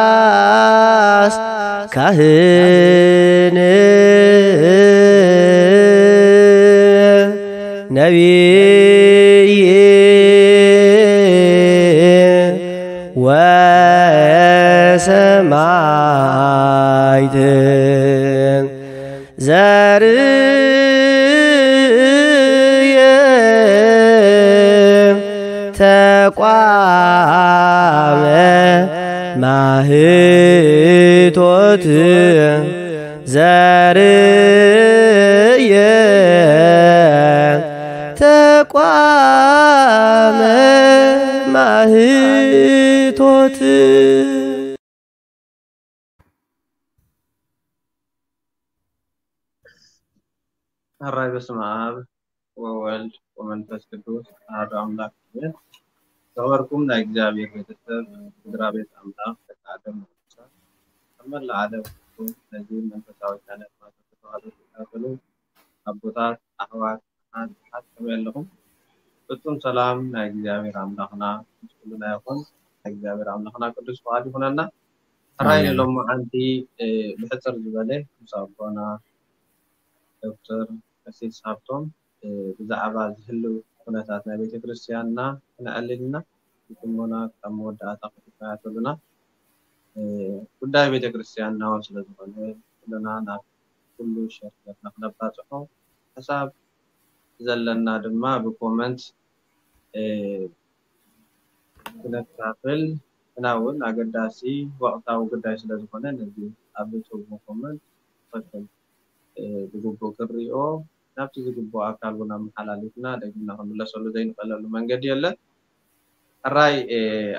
ዘካርያስ ካህን ነቢይ ወሰማዕት ዘርየ ተቋመ ማህቶት ዘርየ ተቋመ ማህቶት። ሕራይ በስመ ኣብ ወወልድ ወመንፈስ ቅዱስ ኣሐዱ ኣምላክ ኣሜን። ዝኸበርኩም ናይ እግዚኣብሔር ቤተሰብ፣ ስድራ ቤት ኣምላክ፣ ደቂ ዓለም ቅዱሳን፣ ኣብ መላእ ዓለም ነዚ መንፈሳዊ ቻነል ማዕከን ተዋህዶ ትከታተሉ ኣቦታት፣ ኣሕዋት፣ ኣሓት፣ ኣሓት ከመይ ኣለኹም? ፍጹም ሰላም ናይ እግዚኣብሔር ኣምላኽና ምስ ኩልና ይኹን። ናይ እግዚኣብሔር ኣምላኽና ቅዱስ ፍቓድ ይኹነልና። ሕራይ ኣሜን። ሎማዓንቲ ብሕጽር ዝበለ ምስ ኣቦና ዶክተር ቀሲስ ሃብቶም ብዛዕባ ዝህልው ኩነታት ናይ ቤተ ክርስቲያንና ክነዕልልና ብጥሞና ካብ መወዳእታ ክትከታተሉና ጉዳይ ቤተ ክርስቲያንና እውን ስለ ዝኾነ ኩልና ናብ ኩሉ ሸር ጌርና ክነባፅሖ ሓሳብ ዘለና ድማ ብኮመንት ክነካፍል እና እውን ኣገዳሲ ወቕታዊ ጉዳይ ስለ ዝኾነ ነዚ ኣብ ዝጽቡ ኮመንት ትኽክል ብግቡእ ክሪኦ ናብቲ ዝግቡእ ኣካል እውን ኣመሓላሊፍና ደጊምና ክንምለሰሉ ዘይንኽእለሉ መንገዲ የለን። ሕራይ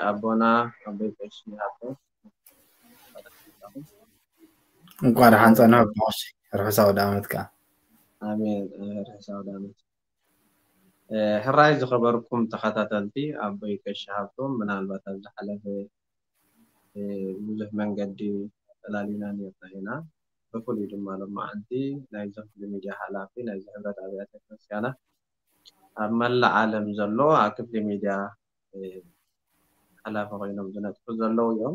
ኣቦና ኣቦይ ቀሺ ሃብቶም እንኳን ደሓን ጸናሕኩም። ርሑስ ኣውደ ዓመት ከኣ። ኣሜን። ርሑስ ኣውደ ዓመት። ሕራይ ዝኸበርኩም ተኸታተልቲ ኣቦይ ቀሺ ሃብቶም ምናልባት ኣብ ዝሓለፈ ብዙሕ መንገዲ ፈላሊና ኔርና ኢና። ብፍሉይ ድማ ሎማዓንቲ ናይዚ ክፍሊ ሚድያ ሓላፊ ናይዚ ሕብረት ኣብያተ ክርስቲያናት ኣብ መላእ ዓለም ዘሎ ኣብ ክፍሊ ሚድያ ሓላፊ ኮይኖም ዝነጥፉ ዘለዉ እዮም።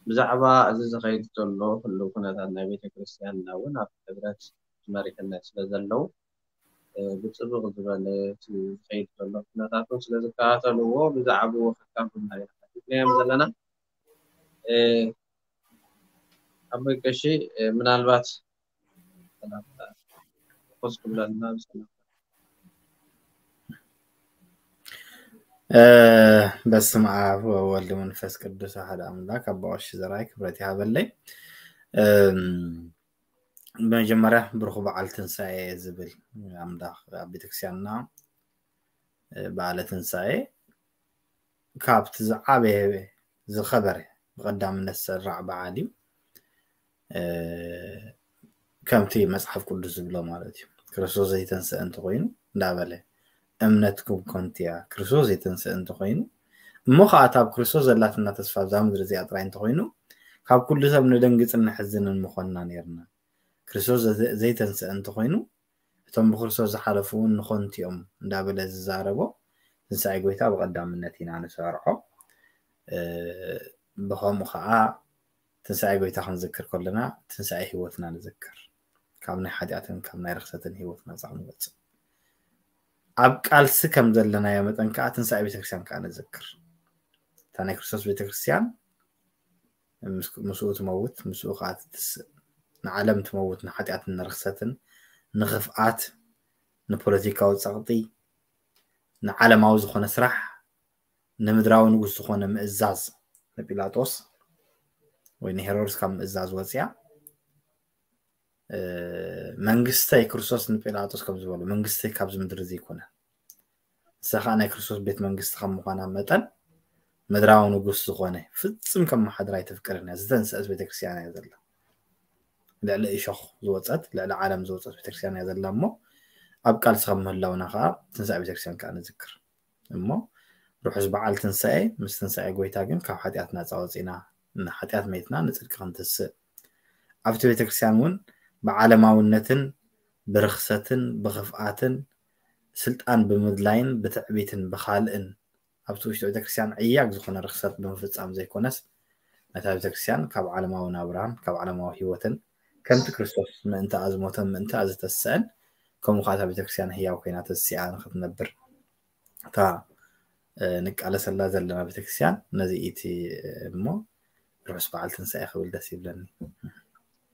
ብዛዕባ እዚ ዝኸይድ ዘሎ ህልው ኩነታት ናይ ቤተ ክርስቲያንና እውን ኣብ ሕብረት መሪሕነት ስለ ዘለዉ ብፅብቕ ዝበለ እቲ ዝኸይድ ዘሎ ኩነታት እውን ስለ ዝከታተልዎ ብዛዕብኡ ከካፍሉና ኢና ሓቲትናዮም ዘለና። ኣቦይ ቀሺ ምናልባት ሰላምታ ኮስ ክብለልና ብሰላም በስመ ኣብ ወወልድ መንፈስ ቅዱስ ኣሐደ ኣምላክ ኣባ ቀሺ ዘርኣይ ክብረት ይሃበለይ። ብመጀመርያ ብሩኽ በዓል ትንሳኤ ዝብል ኣምላኽ ኣብ ቤተክርስትያንና በዓለ ትንሳኤ ካብቲ ዝዓበየ ዝኸበረ ብቐዳምነት ዝስራዕ በዓል እዩ። ከምቲ መጽሓፍ ቅዱስ ዝብሎ ማለት እዩ። ክርስቶስ ዘይተንስአ እንተኾይኑ እንዳበለ እምነትኩም ከንቱ እያ። ክርስቶስ ዘይተንስአ እንተኾይኑ እሞ ከዓ እታ ኣብ ክርስቶስ ዘላትና ተስፋ ኣብዛ ምድሪ እዚኣ ጥራይ እንተኾይኑ ካብ ኩሉ ሰብ ንደንግጽን ንሕዝንን ምኾንና ነርና። ክርስቶስ ዘይተንስአ እንተኾይኑ እቶም ብክርስቶስ ዝሓለፉ እውን ንኾንቱ እዮም እንዳበለ ዝዛረቦ ትንሳኤ ጎይታ ብቐዳምነት ኢና ንሰርዖ። ብኸምኡ ከዓ ትንሳኤ ጎይታ ክንዝክር ከለና ትንሳኤ ህይወትና ንዝክር። ካብ ናይ ሓጢኣትን ካብ ናይ ርክሰትን ህይወት ናፃ ክንወፅእ ኣብ ቃልሲ ከም ዘለናዮ መጠን ከዓ ትንሳኤ ቤተክርስትያን ከዓ ንዝክር። እታ ናይ ክርስቶስ ቤተክርስትያን ምስኡ ትመውት፣ ምስኡ ከዓ ትትስእ። ንዓለም ትመውት፣ ንሓጢኣትን ንርክሰትን ንኽፍኣት ንፖለቲካዊ ፀቕጢ ንዓለማዊ ዝኾነ ስራሕ ንምድራዊ ንጉስ ዝኾነ ምእዛዝ ንጲላጦስ ወይ ንሄሮድስ ካብ ምእዛዝ ወፅያ መንግስተይ ክርስቶስ ንጲላጦስ ከም ዝበሎ መንግስተይ ካብዚ ምድሪ ዘይኮነ ንሳ ከዓ ናይ ክርስቶስ ቤት መንግስቲ ከም ምዃና መጠን ምድራዊ ንጉስ ዝኾነ ፍፅም ከም መሓድራ ኣይተፍቅርን እያ። ዝተንስአት ቤተክርስትያን እያ ዘላ። ልዕሊ እሾኽ ዝወፀት ልዕሊ ዓለም ዝወፀት ቤተክርስትያን እያ ዘላ እሞ ኣብ ቃልሲ ከም ምህላውና ከዓ ትንሳኤ ቤተክርስትያን ከዓ ንዝክር። እሞ ርሑስ በዓል ትንሳኤ ምስ ትንሳኤ ጎይታ ግን ካብ ሓጢኣት ናፃ ወፂና ንሓጢኣት መይትና ንፅድቂ ክንትስእ ኣብቲ ቤተክርስትያን እውን ብዓለማውነትን ብርኽሰትን ብኽፍኣትን ስልጣን ብምድላይን ብትዕቢትን ብኻልእን ኣብቲ ውሽጢ ቤተክርስትያን ዕያግ ዝኾነ ርክሰት ብምፍጻም ዘይኮነስ፣ ነታ ቤተክርስትያን ካብ ዓለማዊ ናብራን ካብ ዓለማዊ ህይወትን ከምቲ ክርስቶስ ምእንታኣ ዝሞተን ምእንታኣ ዝተስአን፣ ከምኡ ከዓ እታ ቤተክርስትያን ህያው ኮይና ተሲኣ ንኽትነብር እታ ንቃለሰላ ዘለና ቤተክርስትያን ነዚ ኢቲ እሞ ርሑስ በዓል ትንሳኤ ክብል ደስ ይብለኒ።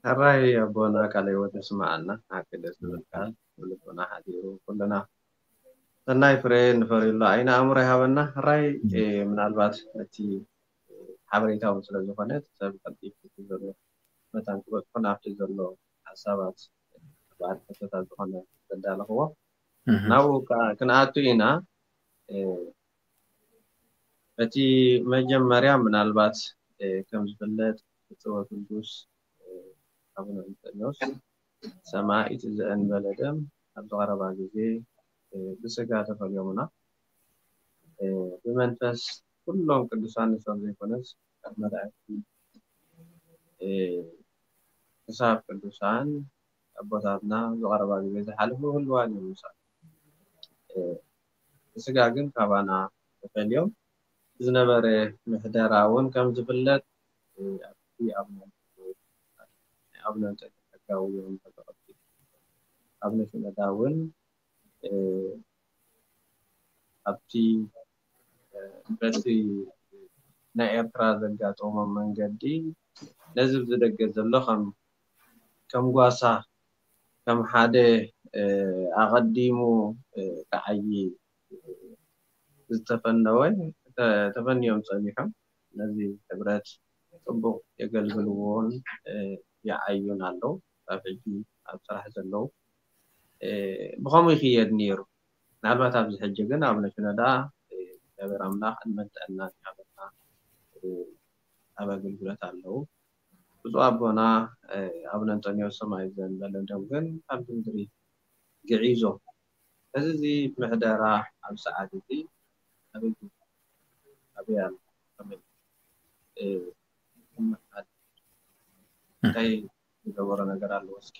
ሕራይ ኣቦና ቃለ ህይወት የስምዓልና። ሓቂ ደስ ዝብል ቃል ብልቦና ሓዲሩ ኩልና ሰናይ ፍሬ ንፈርየሉ ዓይኒ ኣእምሮ ይሃበና። ሕራይ ምናልባት እቲ ሓበሬታውን ስለ ዝኾነ ሰብ ቀልጢፉ ዘሎ መታን ክበጽሑ ናብቲ ዘሎ ሓሳባት በዓል ሕቶታት ዝኾነ ዘዳለኽዎ ናብኡ ክንኣቱ ኢና። እቲ መጀመርያ ምናልባት ከም ዝፍለጥ ብፁዕ ወቅዱስ ኣቡነ እንጠንዮስ ሰማዕት ዘእንበለ ደም ኣብዚ ቀረባ ግዜ ብስጋ ተፈልዮምና። ብመንፈስ ኩሎም ቅዱሳን ንሶም ዘይኮነስ ካብ መላእክቲ ክሳብ ቅዱሳን ኣቦታትና ዝቐረባ ግዜ ዝሓለፉ ህልዋን እዮም ምሳና። ብስጋ ግን ካባና ተፈልዮም ዝነበረ ምሕደራ እውን ከም ዝፍለጥ ኣብቲ ኣብነ እንጠንዮስ ሕጋዊ እዮም ተጠቐቲ ኣብነ ሽነዳ እውን ኣብቲ በቲ ናይ ኤርትራ ዘጋጠሞም መንገዲ ነዚ ብዝደገ ዘሎ ከም ከም ጓሳ ከም ሓደ ኣቐዲሙ ክዓዪ ዝተፈነወ ተፈንዮም ጸኒሖም ነዚ ሕብረት ጽቡቕ የገልግልዎን ይዓዩን ኣለዉ። ኣብ ሕጂ ኣብ ስራሕ ዘለዉ ብኸምኡ ይኽየድ ነይሩ። ምናልባት ኣብዚ ሕጂ ግን ኣብ ነሽነዳ እግዚኣብሔር ኣምላኽ ዕድመን ጥዕናን ይሃበና ኣብ ኣገልግሎት ኣለዉ። ብፁዕ ኣቦና ኣቡነ እንጠንዮስ ሰማዕት ዘእንበለ ደም ግን ካብዚ ምድሪ ግዒዞም። እዚ እዚ ምሕደራ ኣብ ሰዓት እዚ ኣበይ ኣበይ ኣሎ? እንታይ ዝገበሮ ነገር ኣለዎ? እስኪ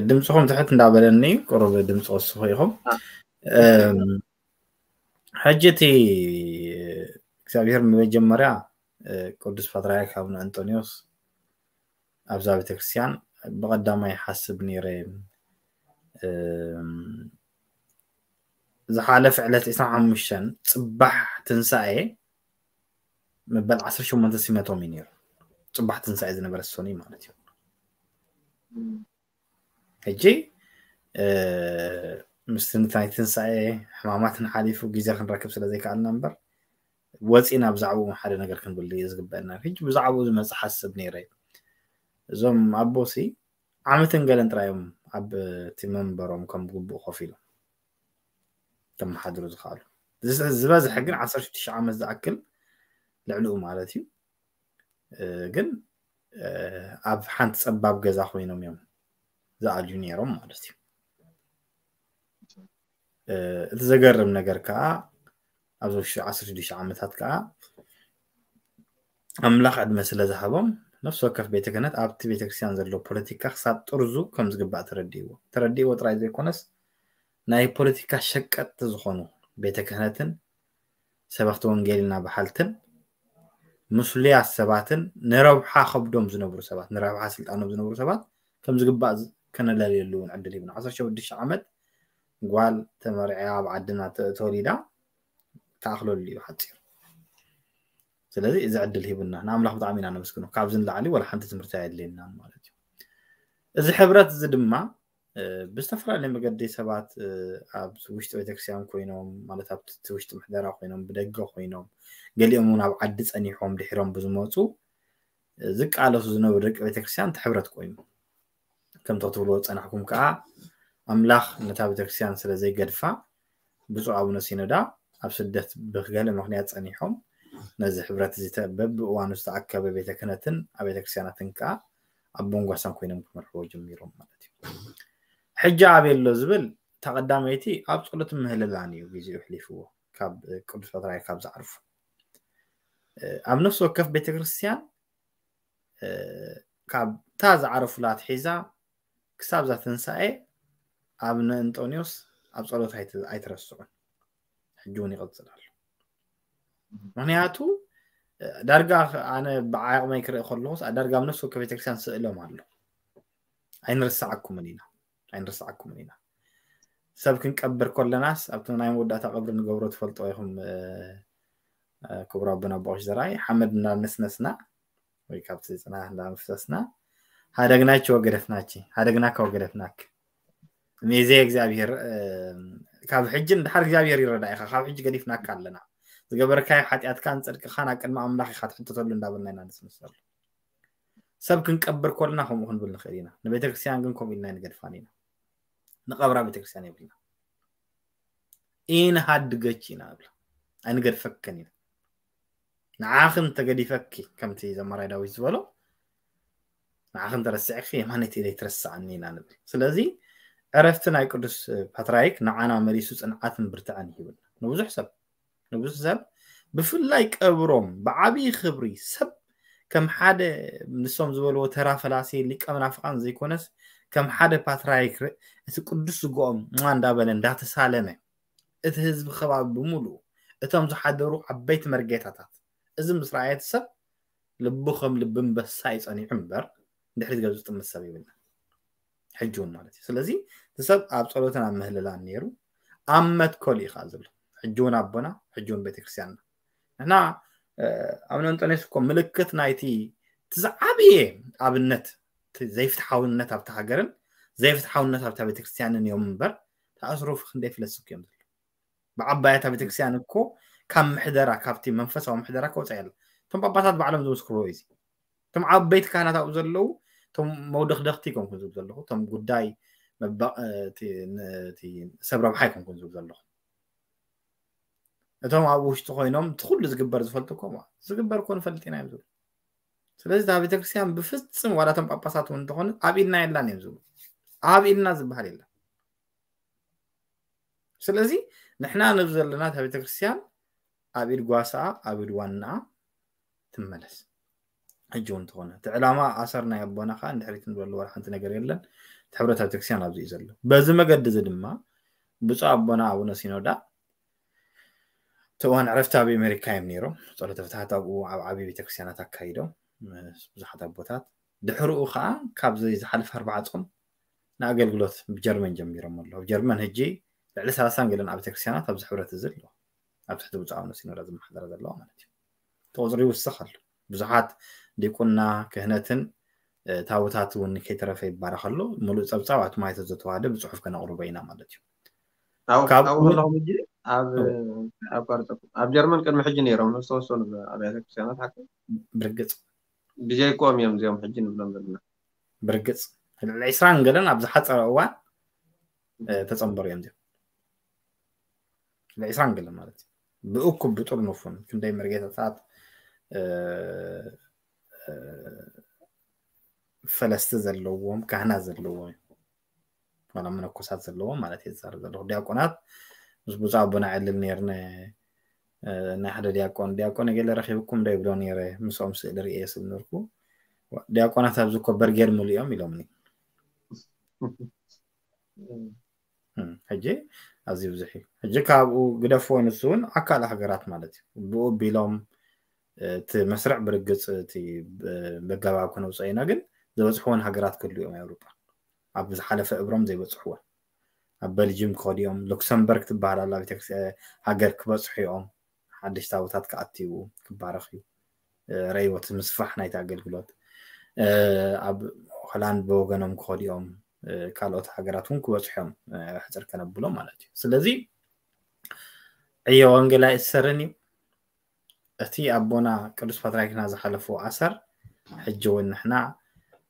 ድምፅኹም ትሕት እንዳበለኒ ቁሩብ ድምፂ ወስኹ ኢኹም። ሕጂ እቲ እግዚኣብሔር መጀመርያ ቅዱስ ፓትርያርክ ኣቡነ እንጦንዮስ ኣብዛ ቤተክርስትያን ብቐዳማይ ይሓስብ ነይረ። ዝሓለፈ ዕለት ዕስራን ሓሙሽተን ፅባሕ ትንሳኤ መበል ዓሰርተ ሸሞንተ ሲመቶም እዩ ነይሩ። ፅባሕ ትንሳኤ ዝነበረ ሰኑይ ማለት እዩ። ሕጂ ምስቲ ናይ ትንሳኤ ሕማማትን ሓሊፉ ግዜ ክንረክብ ስለ ዘይከኣልና እምበር ወፂና ብዛዕባኡ ሓደ ነገር ክንብል እዩ ዝግበአና። ሕጂ ብዛዕባኡ ዝመፅእ ሓስብ ነይረ። እዞም ኣቦሲ ዓመትን ገለን ጥራዮም ኣብ እቲ መንበሮም ከም ግቡእ ኮፍ ኢሎም ተመሓድሩ ዝኽኣሉ። ዝበዝሐ ግን ዓሰርተ ሽዱሽተ ዓመት ዝኣክል ልዕሊኡ ማለት እዩ። ግን ኣብ ሓንቲ ፀባብ ገዛ ኮይኖም እዮም ዝኣልዩ ነይሮም ማለት እዩ። እቲ ዘገርም ነገር ከዓ ኣብዚ ውሽጢ ዓሰርተ ሽዱሽተ ዓመታት ከዓ ኣምላኽ ዕድመ ስለ ዝሃቦም ነፍሲ ወከፍ ቤተ ክህነት ኣብቲ ቤተክርስትያን ዘሎ ፖለቲካ ክሳብ ጥርዙ ከም ዝግባእ ተረዲእዎ። ተረዲእዎ ጥራይ ዘይኮነስ ናይ ፖለቲካ ሸቀጥቲ ዝኾኑ ቤተ ክህነትን ሰበኽቲ ወንጌልና በሓልትን ምስሉያት ሰባትን ንረብሓ ከብዶም ዝነብሩ ሰባት ንረብሓ ስልጣኖም ዝነብሩ ሰባት ከም ዝግባእ ከነለልየሉ እውን ዕድል ሂብና። ዓሰርተ ሽዱሽተ ዓመት ጓል ተመርዕያ ኣብ ዓድና ተወሊዳ ተኣኽለሉ እዩ ሓፂር። ስለዚ እዚ ዕድል ሂቡና ንኣምላኽ ብጣዕሚ ኢና ነመስግኖ። ካብዚ ንላዕሊ ወላ ሓንቲ ትምህርቲ ኣየድልየናን ማለት እዩ። እዚ ሕብረት እዚ ድማ ብዝተፈላለየ መገዲ ሰባት ኣብ ውሽጢ ቤተክርስትያን ኮይኖም ማለት ኣብቲ ውሽጢ ምሕደራ ኮይኖም ብደገ ኮይኖም ገሊኦም እውን ኣብ ዓዲ ፀኒሖም ድሒሮም ብዝመፁ ዝቃለሱ ዝነበሩ ደቂ ቤተክርስትያን እቲ ሕብረት ኮይኑ ከምቲ ክትብልዎ ዝፀናሕኩም ከዓ ኣምላኽ ነታ ቤተክርስትያን ስለ ዘይገድፋ ብፁዕ ኣቡነ ሲኖዳ ኣብ ስደት ብገለ ምክንያት ፀኒሖም ነዚ ሕብረት እዚ በብእዋኑ ዝተኣከበ ቤተ ክህነትን ኣብ ቤተክርስትያናትን ከዓ ኣብ ቦንጓሳን ኮይኖም ክመርሕዎ ጀሚሮም ማለት እዩ። ሕጂ ኣበይ ኣሎ ዝብል እታ ቀዳመይቲ ኣብ ፀሎትን ምህልላን እዩ ግዜኡ ኣሕሊፍዎ ካብ ቅዱስ ፓትርያርክ ካብ ዝዓርፉ። ኣብ ነፍሲ ወከፍ ቤተክርስትያን ካብ እታ ዝዓረፉላ ኣትሒዛ ክሳብ እዛ ትንሳኤ ኣቡነ እንጦንዮስ ኣብ ጸሎት ኣይትረስዑን። ሕጂ እውን ይቕጽል ኣሎ። ምክንያቱ ዳርጋ ኣነ ብዓቕመይ ክርኢ ከለኹስ ዳርጋ ኣብ ነፍሲ ወከፍ ቤተክርስትያን ስእሎም ኣሎ። ኣይንርስዓኩምን ኢና ኣይንርስዓኩምን ኢና። ሰብ ክንቀብር ከለናስ ኣብቲ ናይ መወዳእታ ቀብሪ ንገብሮ ትፈልጦ ኢኹም። ክቡር ኣቦና ኣቦቆሽ ዘርኣይ ሓመድ እናነስነስና ወይ ካብቲ ጽናሕ እንዳመፍሰስና ሃደግናች ወገደፍናች ሃደግናካ ወገደፍናክ ሚዜ እግዚኣብሔር። ካብ ሕጂ ንድሓር እግዚኣብሔር ይረዳ ኢኻ። ካብ ሕጂ ገዲፍናካ ኣለና። ዝገበርካዮ ሓጢኣትካን ጽድቅኻን ኣብ ቅድሚ ኣምላኽ ኢኻ ትሕተተሉ እንዳበልና ኢና ንስንሰሉ። ሰብ ክንቀብር ከለና ከምኡ ክንብል ንኽእል ኢና። ንቤተክርስትያን ግን ከምኡ ኢልና ንገድፋን ኢና። ንቐብራ ቤተክርስትያን የብልና። ኢንሃድገች ኢና ንብላ። ኣይንገድፈክን ኢና። ንዓኽን ተገዲፈኪ ከምቲ ዘማራይ ዳዊት ዝበሎ ንዓኽን ተረሲዕኪ የማነይቲ ኢደይ ትረስዓኒ ኢና ንብል። ስለዚ ዕረፍቲ ናይ ቅዱስ ፓትራይክ ንዓና መሊሱ ጽንዓትን ብርትዐን ይህብና። ንብዙሕ ሰብ ንብዙሕ ሰብ ብፍላይ ቀብሮም ብዓብዪ ክብሪ ሰብ ከም ሓደ ንሶም ዝበልዎ ተራ ፈላሲ ሊቀ መናፍቃን ዘይኮነስ ከም ሓደ ፓትራይክ እቲ ቅዱስ ስግኦም ማ እንዳበለ እንዳተሳለመ እቲ ህዝቢ ከባቢ ብምሉኡ እቶም ዝሓደሩ ዓበይቲ መርጌታታት እዚ ምስ ረኣየ እቲ ሰብ ልቡ ከም ልቢ ኣንበሳ እዩ ጸኒዑ እምበር ንድሕሪት ገጹ ዝጥምት ሰብ የብልና። ሕጂ እውን ማለት እዩ። ስለዚ እቲ ሰብ ኣብ ጸሎትን ኣብ ምህልላን ነይሩ ኣብ መትከሉ እዩ ከዓ ዘሎ። ሕጂ እውን ኣቦና ሕጂ እውን ቤተክርስትያንና ንሕና ኣብ ነንጠኔስ እኮ ምልክት ናይቲ እቲ ዝዓበየ ኣብነት ዘይፍትሓውነት ኣብቲ ሃገርን ዘይፍትሓውነት ኣብታ ቤተክርስትያንን እዮም እምበር ተኣስሮፍ ክንደይ ፍለስክ እዮም ዘሎ። ብዓባያታ ቤተክርስትያን እኮ ካብ ምሕደራ ካብቲ መንፈሳዊ ምሕደራ ከውፃእ ያለ እቶም ጳጳሳት ባዕሎም ዝምስክርዎ እዩ። እቶም ዓበይቲ ካህናት ኣብኡ ዘለዉ እቶም መውደኽደኽቲ ይኮንኩን ዝብል ዘለኹ እቶም ጉዳይ ሰብ ረብሓ ይኮንኩን ዝብል ዘለኹ እቶም ኣብ ውሽጢ ኮይኖም እቲ ኩሉ ዝግበር ዝፈልጡ እኮ ዝግበር እኮ ንፈልጥ ኢና እዮም ዝብሉ። ስለዚ እታ ቤተክርስትያን ብፍፅም ዋላ እቶም ጳጳሳት እውን እንተኾኑ ኣብ ኢድና የላን እዮም ዝብሉ። ኣብ ኢድና ዝበሃል የለን። ስለዚ ንሕና ንብ ዘለና እታ ቤተክርስትያን ኣብ ኢድ ጓሳ ኣብ ኢድ ዋና ትመለስ። ሕጂ እውን ተኾነ እቲ ዕላማ ኣሰር ናይ ኣቦና ከዓ እንድሕሪት ንበሉ ወላ ሓንቲ ነገር የለን። እቲ ሕብረት ቤተክርስትያን ኣብዚ እዩ ዘሎ። በዚ መገዲ እዚ ድማ ብፁዕ ኣቦና ኣቡነ ሲኖዳ እቲ እዋን ዕረፍቲ ኣብ ኣሜሪካ እዮም ነይሮም። ጸሎተ ፍትሓት ኣብኡ ኣብ ዓብዪ ቤተክርስትያናት ኣካይዶም ብዙሓት ኣቦታት። ድሕርኡ ከዓ ካብዚ ዝሓለፈ ኣርባዓ ጾም ንኣገልግሎት ብጀርመን ጀሚሮም ኣለዉ። ኣብ ጀርመን ሕጂ ልዕሊ ሰላሳን ገለን ኣብ ቤተክርስትያናት ኣብዚ ሕብረት እዚ ኣለዉ። ኣብ ትሕቲ ብፁዕ ኣቡነ ሲኖዳ ዝመሓደረ ዘለዋ ማለት እዩ። እቲ ቁፅሪ ይውስኽ ኣሎ። ብዙሓት ዲቁና ክህነትን ታቦታት እውን ከይተረፈ ይባረኽ ኣሎ። ሙሉእ ፀብፃብ ኣብቲ ማይቶ ዘተዋህደ ብፅሑፍ ከነቕርቦ ኢና ማለት እዩ። ካብኡ ከለኹም ሕጂ ኣብ ጀርመን ቅድሚ ሕጂ ነይሮም ዝተወሰኑ ኣብያተ ክርስትያናት ሓቂ ብርግፅ ብጀይኮም እዮም እዚኦም ሕጂ ንብሎም ዘለና። ብርግፅ ልዕሊ ዕስራን ገለን ኣብ ዝሓፀረ እዋን ተፀንበሩ እዮም እዚኦም። ልዕሊ ዕስራን ገለን ማለት እዩ። ብእኩብ ብጥርኑፉን ክንደይ መርጌታታት ፈለስቲ ዘለዎም ካህናት ዘለዎም ዋላ መነኮሳት ዘለዎም ማለት እየ ዝዛረብ ዘለኹ። ዲያቆናት ምስ ብፁዕ ኣቦና ዕልል ነይርነ ናይ ሓደ ዲያቆን ዲያቆን ገለ ረኺብኩም ዶ ይብሎ ነይረ። ምስኦም ስእሊ ርእየ ስብ ነርኩ ዲያቆናት ኣብዚ እኮ በርጌድ ሙሉ እዮም ኢሎምኒ። ሕጂ ኣዝዩ ብዙሕ እዩ። ሕጂ ካብኡ ግደፍዎ ንሱ እውን ኣካል ሃገራት ማለት እዩ። ብኡ ቢሎም እቲ መስርዕ ብርግፅ እቲ በጋባብ ክነውፅኦ ኢና ግን ዝበፅሕዎን ሃገራት ክህሉ እዮም ኣውሮጳ ኣብ ዝሓለፈ እብሮም ዘይበፅሕዎን ኣብ በልጅም ክኸዱ እዮም። ሉክሰምበርግ ትበሃል ኣላ ቤተክርስትያን ሃገር ክበፅሑ እዮም። ሓደሽቲ ኣቦታት ክኣትዩ ክባረኽ እዩ። ረይቦት ምስፋሕ ናይቲ ኣገልግሎት ኣብ ሆላንድ ብወገኖም ክኸዱ እዮም። ካልኦት ሃገራት እውን ክበፅሑ እዮም። ሕፅር ከነብሎም ማለት እዩ። ስለዚ ዕዮ ወንጌል ኣይእሰርን እዩ። እቲ ኣቦና ቅዱስ ፓትርያርክና ዝሓለፍዎ ኣሰር ሕጂ እውን ንሕና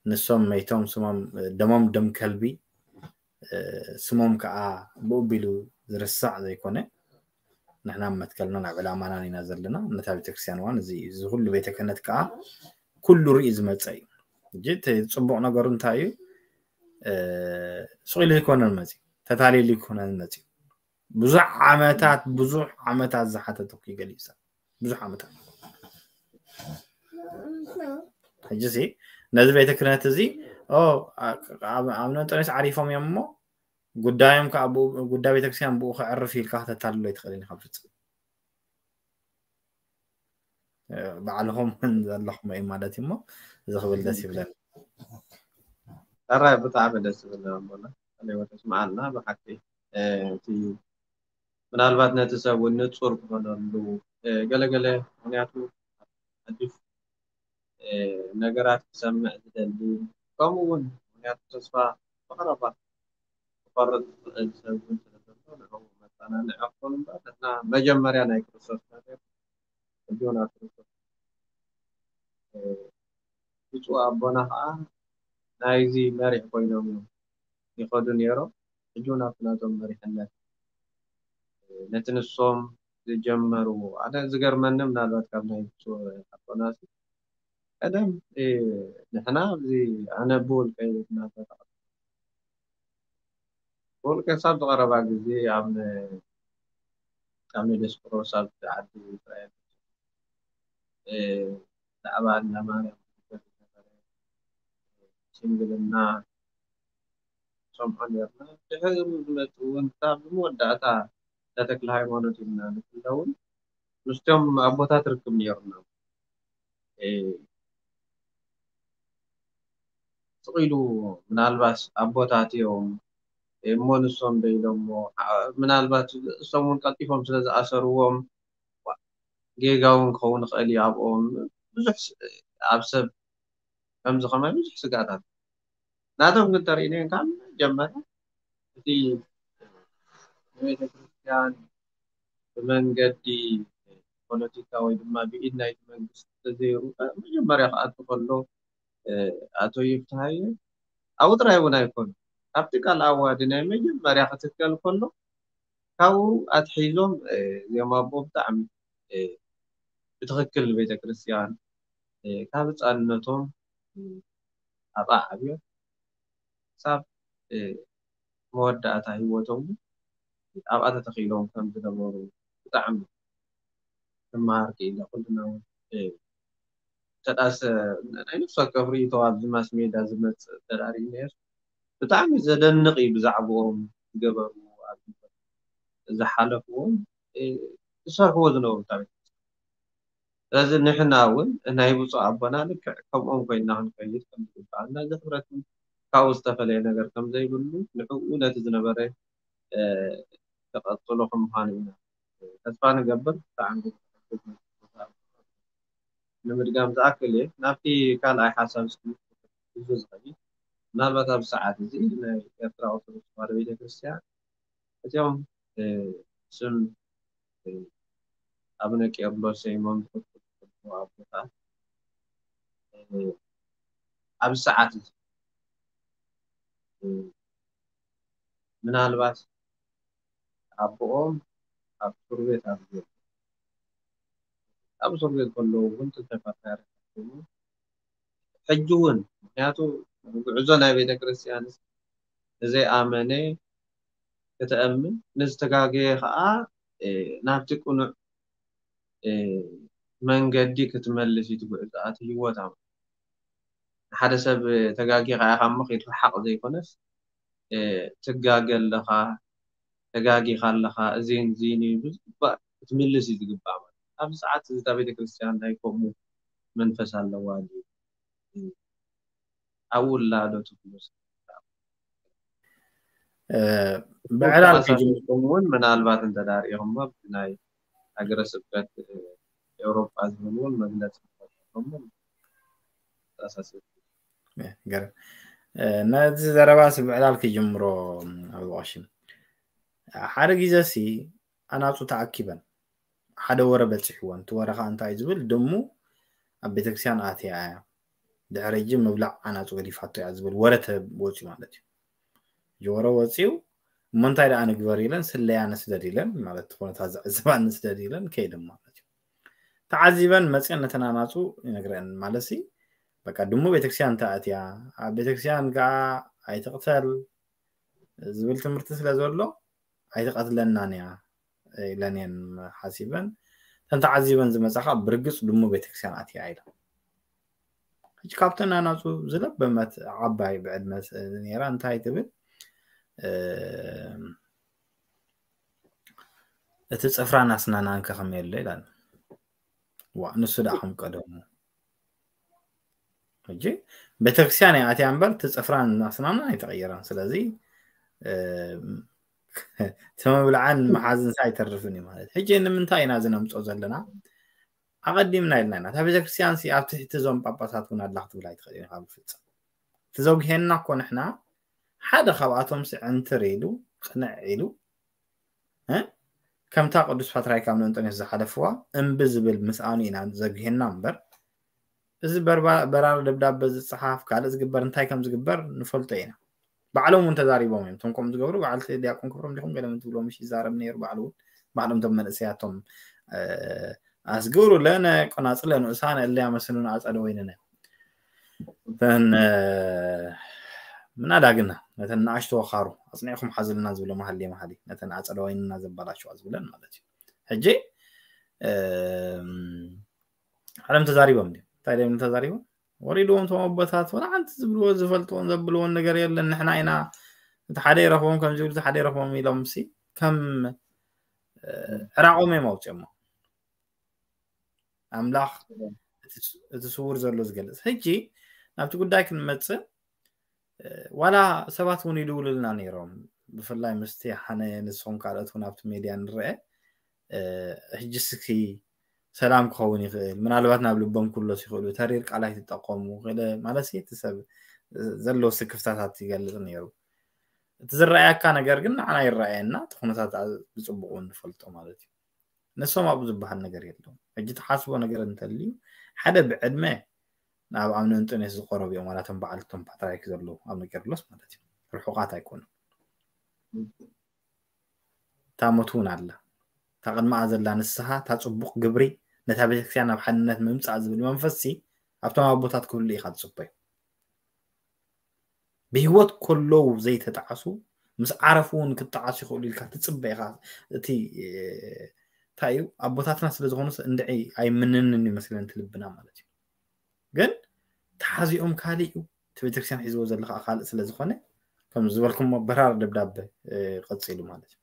ንሶም መይቶም ስሞም ደሞም ደም ከልቢ ስሞም ከዓ ብኡቢሉ ዝርሳዕ ዘይኮነ ንሕና መትከልናን ኣብ ዕላማናን ኢና ዘለና። ነታ ቤተክርስትያን እዋን እዚ እዚ ኩሉ ቤተ ክህነት ከዓ ኩሉ ርኢ ዝመፀ እዩ። ሕጂ እቲ ፅቡቕ ነገሩ እንታይ እዩ? ስቕ ኢሉ ኣይኮነን መፅዩ፣ ተታሊሉ ኣይኮነን መፅዩ። ብዙሕ ዓመታት ብዙሕ ዓመታት ዝሓተተ እኮ እዩ ገሊኡ ሰብ ብዙሕ ዓመታት። ሕጂ ሲ ነዚ ቤተ ክህነት እዚ ኣብ ነንጠኒስ ዓሪፎም እዮም እሞ ጉዳዮም ከዓ ብኡ- ጉዳይ ቤተክርስትያን ብኡ ከዕርፍ ኢልካ ከተታልሎ ኣይትኽእልን ኢኻ ፍጹም። እ፣ ባዕልኹም ዘለኹም እዩ ማለት እዩ እሞ እዚ ክብል ደስ ይብለኒ። ሕራይ ብጣዕሚ ደስ ዝብል ኣቦና። ኣለዎ ተስምዓልና ብሓቂ። እ፣ እቲ ምናልባት ነቲ ሰብ እውን ንጹር ክኾነሉ፣ እ፣ ገለገለ ምኽንያቱ ሓድሽ፣ እ፣ ነገራት ክሰምዕ ዝደሊ፣ ከምኡ እውን ምኽንያቱ ተስፋ ብቐረባ ክቆርጽ ዝኽእል ሰብ እውን ስለ ዘሎ ንዕኡ መጸናንዒ ክኾን እምበር ንሕና መጀመርያ ናይ ክርስቶስ ነገር ሕጂ እውን ኣብ ክርስቶስ፣ እ፣ ብፁዕ ኣቦና ከዓ ናይዚ መሪሕ ኮይኖም እዮም ይኸዱ ነይሮም። ሕጂ እውን ኣብቲ ናቶም መሪሕነት፣ እ፣ ነቲ ንሶም ዝጀመርዎ ኣነ ዝገርመኒ ምናልባት ካብ ናይ ብፁዕ ኣቦና ቀደም፣ እ፣ ንሕና ኣብዚ ኣነ ብውልቀይ እናተጠቐ- ብውልቀ ክሳብ ዝቐረባ ግዜ ኣብ ን- ኣብ ንዲስቆሮስ ኣብ ዓዲ እስራኤል፣ እ፣ ብዛዕባ እንዳ ማርያም ዝግበር ዝነበረ ሽምግልና ሰምዖ ነርና። ድሕሪ ዝመጽእ እውን ክሳብ መወዳእታ እንዳ ተክለ ሃይማኖት ኢልና ንፍለውን ምስቶም ኣቦታት ርክብ ነይሩና። እ፣ ስቕ ኢሉ ምናልባት ኣቦታት እዮም እሞ ንሶም ዶ ኢሎሞ፣ ዓ- ምናልባት እሶም እውን ቀልጢፎም ስለ ዝኣሰርዎም ጌጋ እውን ክኸውን ይኽእል እዩ ኣብኦም። ብዙሕ ስ- ኣብ ሰብ ከምዚ ከማይ ብዙሕ ስጋታት ናቶም ግን ተርእይነን ካብ መጀመርያ እቲ ንቤተ ክርስቲያን ብመንገዲ ፖለቲካ ወይ ድማ ብኢድ ናይቲ መንግስቲ ተዘይሩ መጀመርያ ክኣቱ ከሎ፣ እ፣ ኣቶ ይፍትሃየ ኣብኡ ጥራይ እውን ኣይኮኑ ኣብቲ ቃል ኣዋዲ ናይ መጀመርያ ክትከል ከሎ ካብኡ ኣትሒዞም፣ እ፣ እዚኦም ኣቦ ብጣዕሚ፣ እ፣ ብትኽክል ንቤተ ክርስቲያን፣ እ፣ ካብ ህፃንነቶም፣ እ፣ ኣብኣ ዓብዮም ክሳብ፣ እ፣ መወዳእታ ህይወቶም እውን ኣብኣ ተተኺሎም ከም ዝነበሩ ብጣዕሚ ክመሃር ክኢለ። ኩልና እውን፣ እ፣ እንተ ደኣ ሰ- ናይ ነፍሲ ወከፍ ርእይቶ ኣብዚ ማስ ሜድያ ዝመጽእ እንተ ደኣ ርኢናዮ ብጣዕሚ ዘደንቕ እዩ ብዛዕባኦም ዝገበርዎ ኣብ ህይወት ዝሓለፍዎም፣ እ፣ ዝሰርሕዎ ዝነበሩ ታሪክ። ስለዚ ንሕና እውን ናይ ብፁዕ ኣቦና ልክዕ ከምኦም ኮይና ክንከይድ ከም ዝግባኣና እዚ ሕብረት እውን ካብኡ ዝተፈለየ ነገር ከም ዘይብሉ ንዕኡ ነቲ ዝነበረ፣ እ፣ ተቐጽሎ ከም ምዃኑ ኢና ተስፋ ንገብር። ብጣዕሚ ንምድጋም ዝኣክል እየ ናብቲ ካልኣይ ሓሳብ እስኪ ብዙ ዝኸይድ ምናልባት ኣብ ሰዓት እዚ ናይ ኤርትራ ኦርቶዶክስ ተዋህዶ ቤተክርስትያን እዚኦም፣ እ፣ ስም፣ እ፣ ኣቡነ ቄርሎስ ሰይሞም ዝኽተሉ ኣቦታት፣ እ፣ ኣብ ሰዓት እዚ፣ እ፣ ምናልባት ኣቦኦም ኣብ እስር ቤት ኣብ ዘሎ ኣብ እስር ቤት ከለዉ እውን ጥንተ ፓትርያርክ ኮይኑ ሕጂ እውን ምክንያቱ ጉዕዞ ናይ ቤተ ክርስቲያን ንዘይኣመነ ክትእምን ንዝተጋገየ ከዓ፣ እ፣ ናብቲ ቅኑዕ፣ እ፣ መንገዲ ክትመልስ እዩ ትጉዕዞ ኣቲ ህይወት ኣም ንሓደ ሰብ ተጋጊኻ ኢኻ እሞ ከይትረሓቕ ዘይኮነስ፣ እ፣ ትጋገ ኣለኻ፣ ተጋጊኻ ኣለኻ፣ እዚን እዚን እዩ ብዝግባእ ክትምልስ እዩ ዝግባእ ማለት እዩ። ኣብዚ ሰዓት እዚ እታ ቤተክርስትያን ናይ ከምኡ መንፈስ ኣለዋ ድዩ? እ፣ ኣብኡ ኣላ ዶ ትብሉ? እ፣ ብዕላል ተመሳሲልኩም እውን ምናልባት እንተ ዳኣ ርኢኹሞ ናይ ሃገረ ስብከት፣ እ፣ ኤውሮጳ ዝብል እውን መግለጺ ክፈጥረኩም ተመሳሲል። እ፣ ገርም። እ፣ ነዚ ዘረባ ሲ ብዕላል ክጅምሮ ኣብ ቀሽም። ሓደ ግዜ ሲ ኣናጹ ተኣኪበን ሓደ ወረ በጺሕወን። እቲ ወረ ኸኣ እንታይ እዩ ዝብል? ድሙ ኣብ ቤተክርስትያን ኣትያ እያ። ድሕሪ ሕጂ ምብላዕ ኣናጹ ገዲፋቶ እያ ዝብል ወረ ተወጽዩ ማለት እዩ። ሕጂ ወረ ወጽዩ፣ እሞ እንታይ ደኣ ንግበር ኢለን ስለያ ንስደድ ኢለን፣ ማለት እቲ ኩነታት ዝዕዝባ ንስደድ ኢለን ከይደን ማለት እዩ። ተዓዚበን መጽየን ነተን ኣናጹ ይነግረን ማለት ሲ፣ በቃ ድሙ ቤተክርስትያን ተኣትያ፣ ኣብ ቤተክርስትያን ከኣ ኣይትቕተል ዝብል ትምህርቲ ስለ ዘሎ፣ ኣይትቐትለናን እያ ኢለን እየን ሓሲበን። እተን ተዓዚበን ዝመጻ ከኣ ብርግጽ ድሙ ቤተክርስትያን ኣትያ ኢለን። ሕጂ ካብተን ኣናጹ ዝለበመት ዓባይ ብዕድመ ስ-፣ ነይራ እንታይ ትብል? እቲ ጽፍራን ኣስናናን ከ ከመይ ኣሎ ይላል። ዋ ንሱ ደኣ ከም ቀደሙ። ሕጂ ቤተክርስትያን እያ ኣትያ እምበር እቲ ጽፍራን ኣስናናን ኣይተቐየረን። ስለዚ እቲ ምብላዕን ምሓዝንስ ኣይተርፍን እዩ ማለት። ሕጂ ንምንታይ ኢና እዚ ነምፅኦ ዘለና? ኣቐዲምና ኢልና ኢና። እታ ቤተክርስትያን ሲ ኣብ ትሕቲ እዞም ጳጳሳት እውን ኣላ ክትብል ኣይትኽእል ኢኻ ብፍጽም። እቲ ዘጉሄና እኮ ንሕና ሓደ ካብኣቶም ሲ ዕንትር ኢሉ ቅንዕ ኢሉ እ? ከምታ ቅዱስ ፓትርያርክ ኣብ ንእንጦንዮስ ዝሓለፍዋ እምቢ ዝብል ምስኣኑ ኢና ዘጉሄና እምበር እዚ በርባ- በራሪ ደብዳበ ዝፀሓፍ ካልእ ዝግበር እንታይ ከም ዝግበር ንፈልጦ ኢና። ባዕሎም እውን ተዛሪቦም እዮም። እቶም ከምኡ ዝገብሩ በዓልቲ ዲያቆን ክብሮም ዲኹም ገለ ምን ትብሎም ምሽ ይዛረብ ነይሩ። ባዕሉ እውን ባዕሎም እቶም መንእሰያቶም ኣስግሩ ለነ ቆናጽለ ንኡሳነ እለ ያመስሉን ኣጸደ ወይንነ እተን ምናዳ ግና ነተን ንኣሽቶ ወኻሩ ኣጽኒዕኩም ሓዝልና ዝብሎ መሃሌ መሃሊ ነተን ኣጸደ ወይንና ዘባላሸዋ ዝብለን ማለት እዩ። ሕጂ ዓለም ተዛሪቦም ድዩ? እንታይ ደም ተዛሪቦም? ወሪድዎም እቶም ኣቦታት ወላ ሓንቲ ዝብልዎ ዝፈልጥዎን ዘብልዎን ነገር የለን። ንሕና ኢና እቲ ሓደ ይረኽቦም ከም ዝብል እቲ ሓደ ይረኽቦም ኢሎም ሲ ከም ዕራቖም እዮም ኣውፅኦሞ። ኣምላኽ እቲ ስውር ዘሎ ዝገልጽ። ሕጂ ናብቲ ጉዳይ ክንመጽእ ዋላ ሰባት እውን ይድውሉልና ነይሮም። ብፍላይ ምስቲ ሓነ ንስኹም ካልኦት እውን ኣብቲ ሜድያ ንረአ ሕጂ ስኪ ሰላም ክኸውን ይኽእል። ምናልባት ናብ ልቦም ክብሎስ ይኽእሉ። ተሪር ቃል ኣይትጠቀሙ። ገለ ማለት እቲ ሰብ ዘለዎ ስክፍታታት ይገልጽ ነይሩ። እቲ ዝረኣየካ ነገር ግን ንዓና ይረኣየና። እቲ ኩነታት ብጽቡቕ እውን ንፈልጦ ማለት እዩ። ንሶም ኣብኡ ዝበሃል ነገር የለውም። ሕጂ ትሓስቦ ነገር እንተልዩ ሓደ ብዕድመ ናብ ኣብ ንእንጦንዮስ ዝቆረቡ እዮም። ዋላ እቶም በዓል እቶም ፓትርያርክ ዘለዉ ኣብ ቄርሎስ ማለት እዩ። ርሑቓት ኣይኮኑን። እታ ሞት እውን ኣላ። እታ ቅድሚኣ ዘላ ንስሓ፣ እታ ጽቡቕ ግብሪ፣ ነታ ቤተክርስትያን ናብ ሓድነት ምምጻእ ዝብል መንፈስሲ ኣብቶም ኣቦታት ክህሉ ኢኻ ትጽበዩ። ብህይወት ከለዉ ዘይተጣዕሱ ምስ ዓረፉ እውን ክጣዓሱ ይኽእሉ ኢልካ ትጽበ ኢኻ። እቲ እንታይ እዩ ኣቦታትና ስለ ዝኾኑስ እንድዒ ኣይምንንን ይመስለን እቲ ልብና ማለት እዩ። ግን ተሓዚኦም ካልእ እዩ እቲ ቤተክርስትያን ሒዝዎ ዘሎ ከዓ ካልእ ስለ ዝኾነ ከም ዝበልኩሞ በራር ደብዳበ ቀፂሉ ማለት እዩ።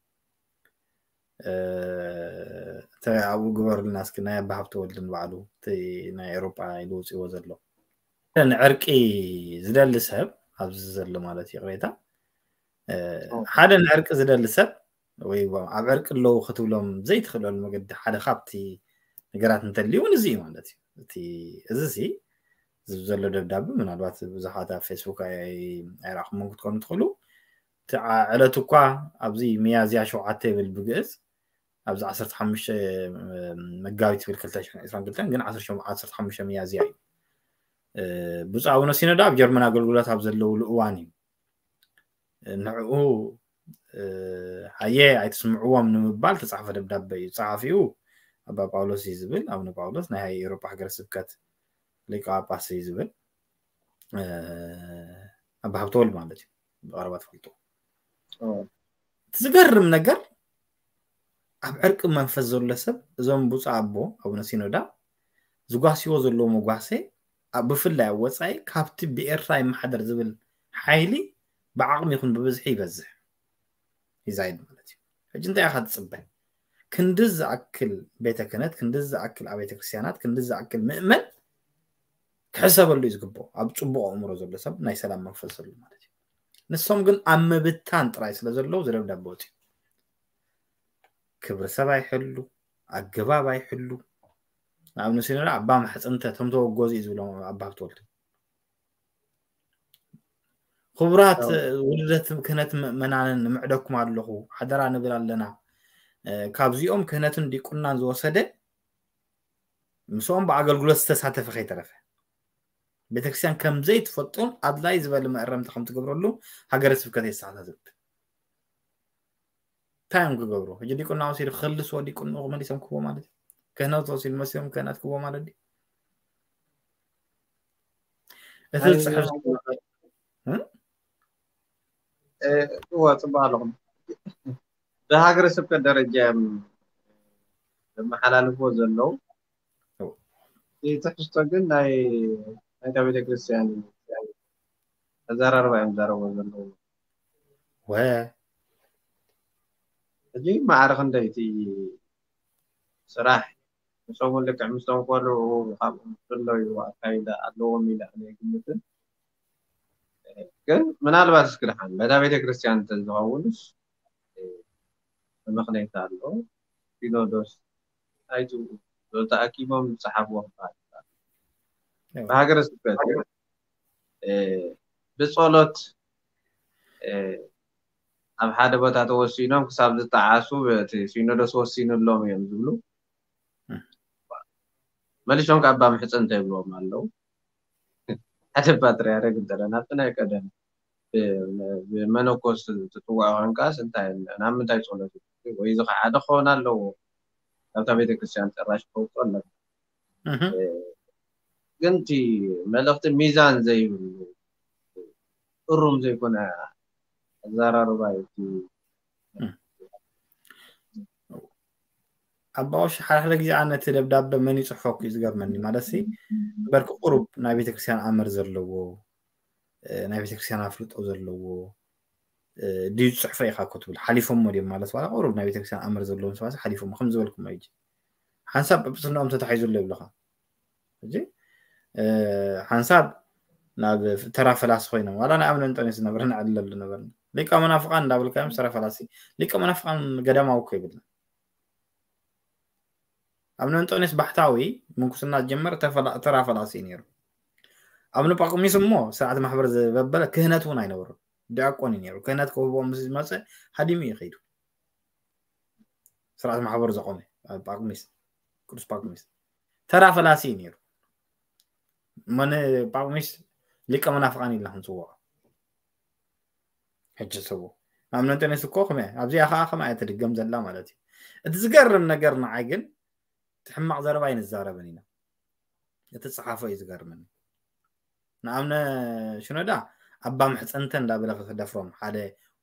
እቲ ኣብኡ ግበሩልና እስኪ ናይ ኣባ ሃብተወልድ ንባዕሉ እቲ ናይ ኤውሮጳ ኢሉ ውፅዎ ዘሎ ንዕርቂ ዝደሊ ሰብ ኣብዚ ዘሎ ማለት ይቕሬታ ሓደ ንዕርቂ ዝደሊ ሰብ ወይ ኣብ ዕርቂ ኣለዉ ክትብሎም ዘይትኽእለሉ መገዲ ሓደ ካብቲ ነገራት እንተልዩ እውን እዚ እዩ ማለት እዩ። እቲ እዚ ሲ እዚ ዘሎ ደብዳቤ ምናልባት ብዙሓት ኣብ ፌስቡክ ኣይረኣኹምዎን ክትኮኑ ትኽእሉ። እቲ ዕለት እኳ ኣብዚ ሚያዝያ ሸውዓተ ይብል ብግእዝ ኣብዚ ዓሰርተ ሓሙሽተ መጋቢት ይብል ክልተ ሽሕን ዕስራን ክልተን ግን ዓሰርተ ሓሙሽተ ሚያዝያ እዩ። ብፁዕ ኣቡነ ሲኖዳ ኣብ ጀርመን ኣገልግሎት ኣብ ዘለውሉ እዋን እዩ። ንዕኡ ሃየ ኣይትስምዕዎም ንምባል ተጻሕፈ ደብዳበ እዩ። ጸሓፊኡ ኣባ ጳውሎስ እዩ ዝብል ኣቡነ ጳውሎስ ናይ ኤውሮጳ ሃገረ ስብከት ሊቀ ጳጳስ እዩ ዝብል ኣባ ሃብተወልድ ማለት እዩ። ብቐረባ ትፈልጡ። እቲ ዝገርም ነገር ኣብ ዕርቂ መንፈስ ዘሎ ሰብ እዞም ብፁዕ ኣቦ ኣቡነ ሲኖዳ ዝጓስይዎ ዘለዉ መጓሰ ብፍላይ ኣብ ወፃኢ ካብቲ ብኤርትራ ይመሓደር ዝብል ሓይሊ ብዓቕሚ ይኹን ብብዝሒ ይበዝሕ ይዛይድ ማለት እዩ። ሕጂ እንታይ ኢኻ ትፅበ? ክንዲ ዝኣክል ቤተ ክህነት፣ ክንዲ ዝኣክል ኣብ ቤተ ክርስቲያናት፣ ክንዲ ዝኣክል ምእመን ክሕሰበሉ እዩ ዝግብኦ። ኣብ ፅቡቕ ኣእምሮ ዘሎ ሰብ ናይ ሰላም መንፈስ ዘሎ ማለት እዩ። ንሶም ግን ኣብ ምብታን ጥራይ ስለ ዘለዉ ዝደብዳበ ወፂኡ ክብሪ ሰብ ኣይሕሉ፣ ኣገባብ ኣይሕሉ። ንኣብነት ሲኖዳ ኣባ ማሕፅንተ እቶም ተወገዙ እዩ ዝብሎም ኣባ ሃብተወልድ። ክቡራት ውልደት ክህነት ምእመናንን ንምዕደኩም ኣለኹ ሓደራ ንብል ኣለና። ካብዚኦም ክህነትን ዲቁናን ዝወሰደ ምስኦም ብኣገልግሎት ዝተሳተፈ ከይተረፈ ቤተክርስትያን ከምዘይትፈልጦም ኣድላይ ዝበለ መእረምቲ ከምትገብረሉ ሃገረ ስብከት የሰሓታትት። እንታይ እዮም ክገብሩ? ሕጂ ዲቁና ወሲዱ ክልስዎ ዲቁንኡ ክመሊሶም ክህቦ ማለት እዩ። ክህነት ወሲዱ መሲሎም ክህነት ክህቦ ማለት ድዩ? እቲ ዝፅሕፍ እዋ ፅቡቅ ኣለኹም። ብሃገረ ስብከት ደረጃ እዮም ዘመሓላልፍዎ ዘለዉ። እቲ ትሕዝቶ ግን ናይ ናይታ ቤተክርስትያን እዩ። ኣዘራርባ እዮም ዘረብዎ ዘለዉ። ሕጂ ማዕረ ክንደይ እቲ ስራሕ ምስኦም ልክዕ ምስቶም ቆልዑ ካብኦም ዝፍለዩ ኣካይዳ ኣለዎም ኢለ ኣነ ይግምትን። ግን ምናልባት እስኪ ደሓን በታ ቤተክርስትያን እንተዝኸውንስ ምኽንያት ኣሎ። ሲኖዶስ ኣይትኡ ተኣኪቦም ዝፀሓፍዎ ክበሃል ይከኣል። ብሃገረ ስብከት ብፀሎት ኣብ ሓደ ቦታ ተወሲኖም ክሳብ ዝጠዓሱ እቲ ሲኖዶስ ወሲኑሎም እዮም ዝብሉ። መሊሶም ከኣ ኣባ ምሕፀንተ ይብልዎም ኣለዉ። ሓደ ፓትርያርክ እንተ ናብቲ ናይ ቀደም ብመነኮስ ትፅዋዕ ኮንካስ እንታይ ናብ ምንታይ ፀሎት ወይ እዚ ከዓ ሓደ ክኸውን ኣለዎ። ኣብታ ቤተክርስትያን ጭራሽ ክፈልጦ ኣለካ። ግን እቲ መልእኽቲ ሚዛን ዘይብሉ እሩም ዘይኮነ ኣዘራርባ እዩ። ኣባቆሽ ሓደ ሓደ ግዜ ኣነ እቲ ደብዳበ መን ይፅሕፎ እዩ ዝገርመኒ። ማለት ሲ በርክ ቁሩብ ናይ ቤተክርስትያን ኣምር ዘለዎ ናይ ቤተክርስትያን ኣፍልጦ ዘለዎ ድዩ ዝፅሕፎ ኢኻ እኮ ትብል። ሓሊፎሞ ድዮም ማለት ዋላ ቁሩብ ናይ ቤተክርስትያን ኣምር ዘለዎም ሰባት ሓሊፎሞ ከም ዝበልኩም ሕጂ ሓንሳብ ጵጵስናኦም ተታሒዙ ኣሎ ይብልኻ። ሕጂ ሓንሳብ ናብ ተራ ፈላሲ ኮይኖም ዋላ ናይ ኣምነ እንጠንዮስ ዝነበረ ንዕለሉ ነበርና። ሊቀ መናፍቃን እንዳበልካዮም ተራ ፈላሲ ሊቀ መናፍቃን ገዳማዊ እኮ ይብልና። ኣምነ እንጠንዮስ ባሕታዊ ምንኩስና ጀመር ተራ ፈላሲ እዩ ነይሩ። ኣምነ ጳቁሚስ እሞ ስርዓት ማሕበር ዝበበለ ክህነት እውን ኣይነበሩ። ዲያቆን እዩ ነይሩ። ክህነት ክህቦ ምስ ዝመፀ ሃዲሙ እዩ ከይዱ። ስርዓት ማሕበር ዘቆመ ጳቁሚስ ቅዱስ ጳቁሚስ ተራ ፈላሲ እዩ ነይሩ። መን ጳቁሚስ ሊቀ መናፍቃን ኢልና ክንፅውዖ ሕጂ ሰቡ ኣምነ እንጠንዮስ እኮ ከመ ኣብዚኣ ከዓ ከመ እያ ትድገም ዘላ ማለት እዩ። እቲ ዝገርም ነገር ንዓይ ግን እቲ ሕማቕ ዘረባ ኣይንዛረብን ኢና። እቲ ፀሓፎ እዩ ዝገርመኒ። ንኣምነ ሽኖዳ ኣባ ምሕፀንተ እንዳበለ ክደፍሮም ሓደ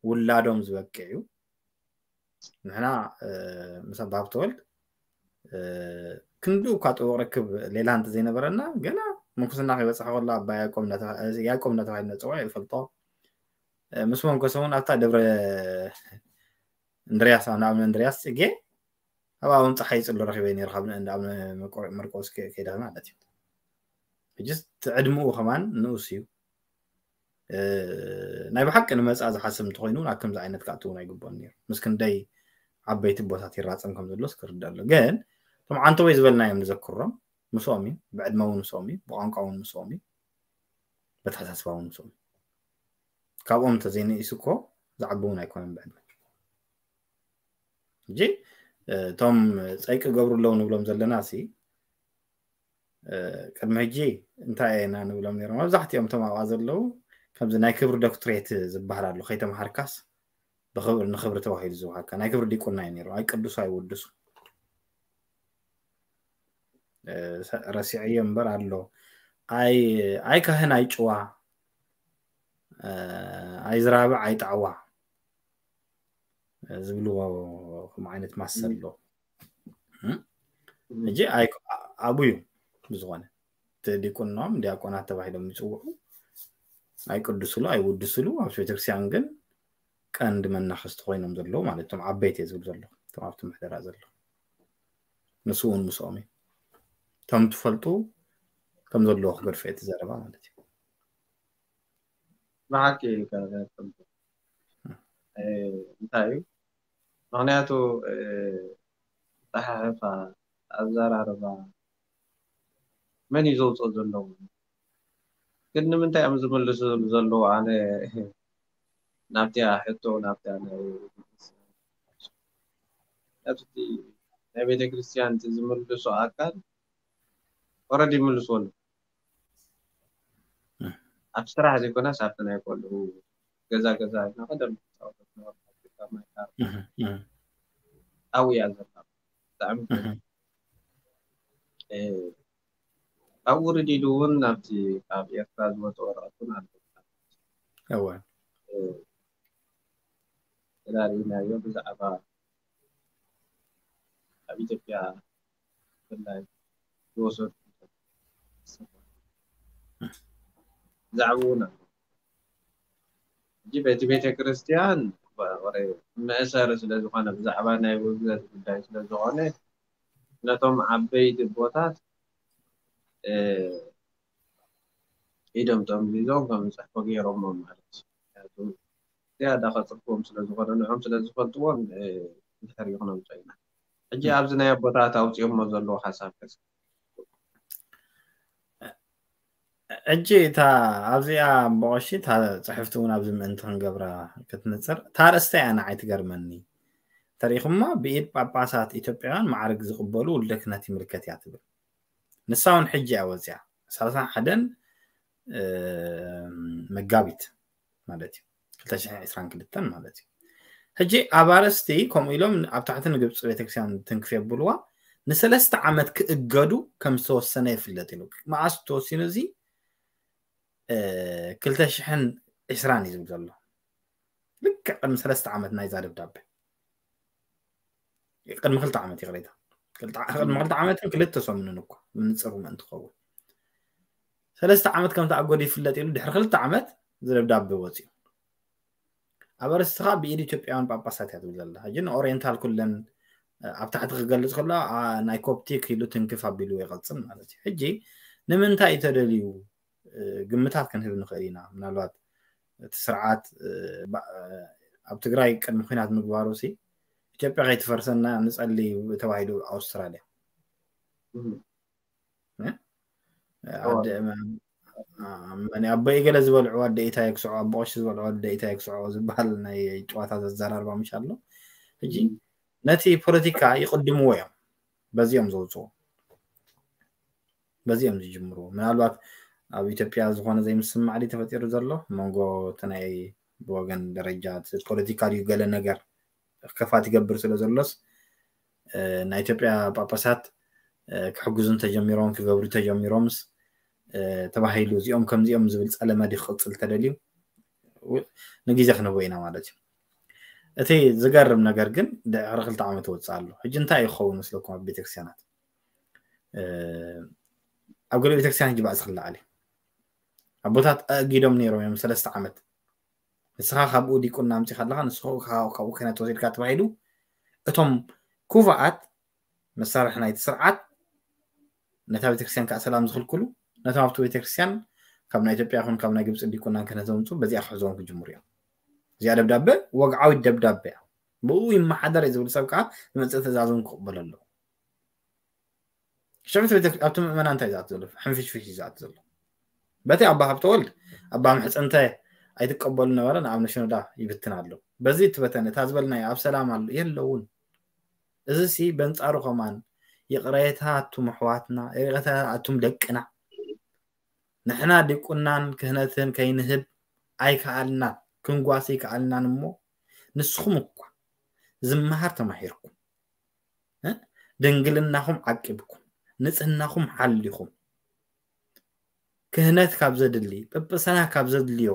ውላዶም ዝበቅዕ እዩ። ንሕና ምስ ኣባ ሃብተወልድ ክንዱ እኳ ጥቡቕ ርክብ ሌላ እንተ ዘይነበረና ገና ምንኩስና ከይበፅሐ ከሎ ኣባ ያዕቆብ እንዳተባሂለ ነፅውዖ ይፈልጦ። ምስ መንኮሰ እውን ኣብታ ደብረ እንድርያስ ንኣምነ እንድርያስ ፅጌ ኣብ ኣቡን ፀሓይ ይፅሎ ረኪበ ነይሩ ካብ እንዳ ኣቡነ መርቆስ ከይደ ማለት እዩ። ሕጅስ ዕድምኡ ከማን ንኡስ እዩ። ናይ ብሓቂ ንመፃ ዝሓስብ እንተኮይኑ ናብ ከምዚ ዓይነት ክኣትውን ኣይግብኦን ነይሩ። ምስ ክንደይ ዓበይቲ ቦታት ይራፀም ከም ዘሎስ ክርዳ ኣሎ። ግን እቶም ዓንተወይ ዝበልናዮም ንዘክሮም ምስኦም እዩ። ብዕድመ እውን ምስኦም እዩ። ብቋንቋ እውን ምስኦም እዩ። በተሓሳስባ እውን ምስኦም እዩ። ካብኦም እንተዘይንኢሱ እኮ ዝዓቢ እውን ኣይኮነን ብዕድመ። ሕጂ እቶም ፀይቂ ገብሩ ኣለዉ ንብሎም ዘለና ሲ ቅድሚ ሕጂ እንታይ ኢና ንብሎም ነይሮም? መብዛሕትኦም እቶም ኣብኣ ዘለዉ ከምዚ ናይ ክብሪ ዶክትሬት ዝበሃል ኣሎ። ከይተምሃርካስ ብክብሪ ንክብሪ ተባሂሉ ዝወሃካ ናይ ክብሪ ዲቁና እዩ ነይሩ። ኣይቅዱሱ ኣይውድሱ ረሲዐዮ እምበር ኣሎ። ኣይ ኣይ ካህን ኣይ ጭዋ ኣይ ዝራብዕ ኣይ ጣዕዋ ዝብልዎ ከም ዓይነት ማሰል ኣሎ። ሕጂ ኣብኡ እዩ ብዝኾነ እቲ ዲቁኖም ዲያቆናት ተባሂሎም ይፅውዑ። ኣይቅድስሉ ኣይውድስሉ ኣብ ቤተክርስትያን ግን ቀንዲ መናኸስቲ ኮይኖም ዘለዉ ማለት እቶም ዓበይቲ እየ ዝብል ዘለኹ እቶም ኣብቲ ምሕደራ ዘለዉ ንሱ እውን ምስኦም እዩ። ከም ትፈልጡ ከም ዘለዎ ክገድፎ እቲ ዘረባ ማለት እዩ። ብሓቂ እንታይ እዩ ምክንያቱ ፀሓሕፋ ኣዘራርባ መን እዩ ዘውፅኦ ዘለዉ ግን ንምንታይ እዮም ዝምልሱ ዘለዉ ኣነ ናብቲያ ሕቶ ናብቲያ ናይ ናብቲ ናይ ቤተክርስትያን ዝምልሱ ኣካል ኦረዲ ይምልስዎ ኣለዉ ኣብ ስራሕ ዘይኮነስ ኣብቲ ናይ ቆልዑ ገዛ ገዛ ኢና ቀደም ኣብኡ እያ ዘላ ብጣዕሚ ኣብኡ ርዲዱ እውን ናብቲ ካብ ኤርትራ ዝወፀ ወረቐት እውን ኣሎ እወ ተዳሪእናዮ ብዛዕባ ኣብ ኢትዮጵያ ብፍላይ ዝወሰዱ ብዛዕባ እውን ኣሎ ሕጂ በቲ ቤተ ክርስቲያን መእሰሪ ስለ ዝኾነ፣ ብዛዕባ ናይ ውግዘት ጉዳይ ስለ ዝኾነ፣ ነቶም ዓበይቲ ኣቦታት ኢዶም ጠምዚዞም ከም ዝፅሕፉ ገይሮሞ ማለት እዩ። ምክንያቱ ዝያዳ ከፅሕፍዎም ስለ ዝኾነ፣ ንዖም ስለ ዝፈልጥዎም ድሕር ይኹኖም ፀይና። ሕጂ ኣብዚ ናይ ኣቦታት ኣውፅኦሞ ዘለዎ ሓሳብ ከስ ሕጂ እታ ኣብዚኣ በቐሺ እታ ፅሕፍቲ እውን ኣብዚ ምእንቲ ክንገብራ ክትንፅር፣ እታ ኣርእስታ እያ ንዓይ ትገርመኒ። ተሪኹማ ብኢድ ጳጳሳት ኢትዮጵያውያን ማዕርግ ዝቕበሉ ውልደ ክህነት ይምልከት እያ ትብል። ንሳ እውን ሕጂ እያ ወፂኣ፣ ሰላሳን ሓደን መጋቢት ማለት እዩ፣ ክልተ ሽሕን ዕስራን ክልተን ማለት እዩ። ሕጂ ኣብ ኣርእስቲ ከምኡ ኢሎም ኣብ ታሕቲ ንግብፂ ቤተክርስትያን ትንክፍ የብልዋ፣ ንሰለስተ ዓመት ክእገዱ ከም ዝተወሰነ ይፍለጥ ኢሉ። መዓስ ተወሲኑ እዚ? ክልተ ሽሕን ዕስራን እዩ ዝብል ዘሎ። ልክዕ ቅድሚ ሰለስተ ዓመት ናይዛ ደብዳቤ፣ ቅድሚ ክልተ ዓመት ይቕሬታ፣ ቅድሚ ክልተ ዓመትን ክልተ ሰሙንን እኳ ምንፅሩ ምእንቲ ኸውን፣ ሰለስተ ዓመት ከም ተኣጎዱ ይፍለጥ ኢሉ ድሕሪ ክልተ ዓመት ዝደብዳቤ ወፂኡ። ኣብ ኣርእስቲ ከዓ ብኢድ ኢትዮጵያውያን ጳጳሳት እያ ትብል ዘላ። ሕጂ ንኦሪየንታል ኩለን ኣብ ታሕቲ ክገልፅ ከሎ ናይ ኮፕቲክ ኢሉ ትንክፍ ኣቢሉ ይቐፅል ማለት እዩ። ሕጂ ንምንታይ እዩ ተደልዩ ግምታት ክንህብ ንኽእል ኢና። ምናልባት እቲ ስርዓት ኣብ ትግራይ ቅድሚ ኩናት ምግባሩ ሲ ኢትዮጵያ ከይትፈርሰና ንፀሊ ተባሂሉ ኣውስትራልያ ኣቦይ ገለ ዝበልዑ ኣደ ኢታይ ክስዖ፣ ኣቦ ቀሺ ዝበልዑ ኣደ ኢታይ ክስዖ ዝበሃል ናይ ጨዋታ ዘዘራርባ ምሽ ኣሎ። ሕጂ ነቲ ፖለቲካ ይቕድምዎ እዮም፣ በዚኦም ዘውፅዎ፣ በዚኦም ዝጅምሩ። ምናልባት ኣብ ኢትዮጵያ ዝኾነ ዘይምስማዕ ድዩ ተፈጢሩ ዘሎ መንጎ እቲ ናይ ብወገን ደረጃ እቲ ፖለቲካ ድዩ ገለ ነገር ከፋት ይገብር ስለ ዘሎስ ናይ ኢትዮጵያ ጳጳሳት ክሕግዙ እንተጀሚሮም ክገብሩ ተጀሚሮምስ ተባሂሉ እዚኦም ከምዚኦም ዝብል ፀለመ ድዩ ክቕፅል ተደልዩ ንግዜ ክንህቦ ኢና ማለት እዩ። እቲ ዝገርም ነገር ግን ድሕሪ ክልተ ዓመት ይወፅእ ኣሎ። ሕጂ እንታይ ይኸውን መስለኩም ኣብ ቤተክርስትያናት? ኣብ ገለ ቤተክርስትያን ሕጂ ባእሲ ክለዓል እዩ። ኣቦታት ኣእጊዶም ነይሮም እዮም ሰለስተ ዓመት። ንስኻ ካብኡ ዲቁና ኣምፂኻ ኣለኻ፣ ንስኻ ካብኡ ክህነት ወሲድካ ተባሂሉ እቶም ኩፋኣት መሳርሒ ናይቲ ስርዓት ነታ ቤተክርስትያን ከዓ ሰላም ዝኽልክሉ፣ ነቶም ኣብቲ ቤተክርስትያን ካብ ናይ ኢትዮጵያ ይኹን ካብ ናይ ግብፂ ዲቁናን ክህነት ዘምፁ በዚኣ ክሕዝዎም ክጅምሩ እዮም። እዚኣ ደብዳበ ወግዓዊት ደብዳበ እያ። ብኡ ይመሓደር ዝብል ሰብ ከዓ ዝመፅእ ትእዛዝ እውን ክቕበሎ ኣለዎ። ሽዑ ኣብቲ ምእመና እንታይ ዝኣት ዘሎ? ሕንፍሽፍሽ ዝኣት ዘሎ። በቲ ኣባ ሃብተወልድ ኣባ ምሕፀንተ ኣይትቀበሉ ነበረ፣ ንኣብነ ሽኖዳ ይብትን ኣሎ። በዚ ትበተን እታ ዝበልናዮ ኣብ ሰላም ኣሎ የለውን። እዚ ሲ በንጻሩ ከማን ይቕሬታ ኣቱም ኣሕዋትና፣ ይቕሬታ ኣቱም ደቅና። ንሕና ዲቁናን ክህነትን ከይንህብ ኣይከኣልናን፣ ክንጓስ ኣይከኣልናን እሞ ንስኹም እኳ ዝመሃር ተማሂርኩም፣ ድንግልናኹም ዓቂብኩም፣ ንጽህናኹም ሓሊኹም፣ ክህነት ካብ ዘድሊ፣ ጵጵስና ካብ ዘድልዮ፣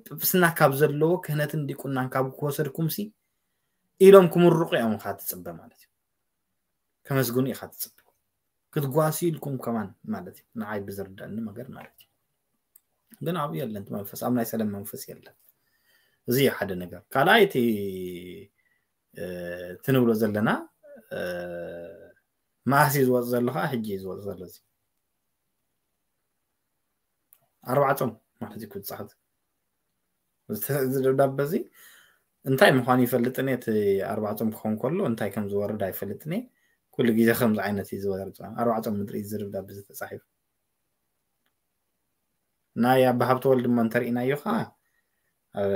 ጵጵስና ካብ ዘለዎ ክህነትን ዲቁናን ካብ ክወሰድኩም ሲ ኢሎም ክምርቑ እዮም ኢኻ ትጽበ ማለት እዩ። ከመስግኑ ኢኻ ትጽበ። ክትጓሱ ኢልኩም ከማን ማለት እዩ። ንዓይ ብዝርዳእኒ ነገር ማለት እዩ። ግን ኣብኡ የለን እቲ መንፈስ፣ ኣብ ናይ ሰላም መንፈስ የለን። እዚ እዩ ሓደ ነገር። ካልኣይ እቲ ትንብሎ ዘለና መዓስ እዩ ዝወፅ ዘሎ ከዓ ሕጂ እዩ ዝወፅ ዘሎ። እዚ ኣርባዓ ፆም ማለት እዩ ክብፃሕ እዚ ደብዳበ እዚ እንታይ ምዃኑ ይፈልጥን እቲ ኣርባዓ ፆም ክኸውን ከሎ እንታይ ከም ዝወርድ ኣይፈልጥን። ኩሉ ግዜ ከምዚ ዓይነት እዩ ዝወርድ። ኣርባዓ ፆም ምድሪ እዩ ዝደብዳበ ዝተፃሒፉ። ናይ ኣባ ሃብተወልድ እሞ እንተሪእናዮ ከዓ ኣብ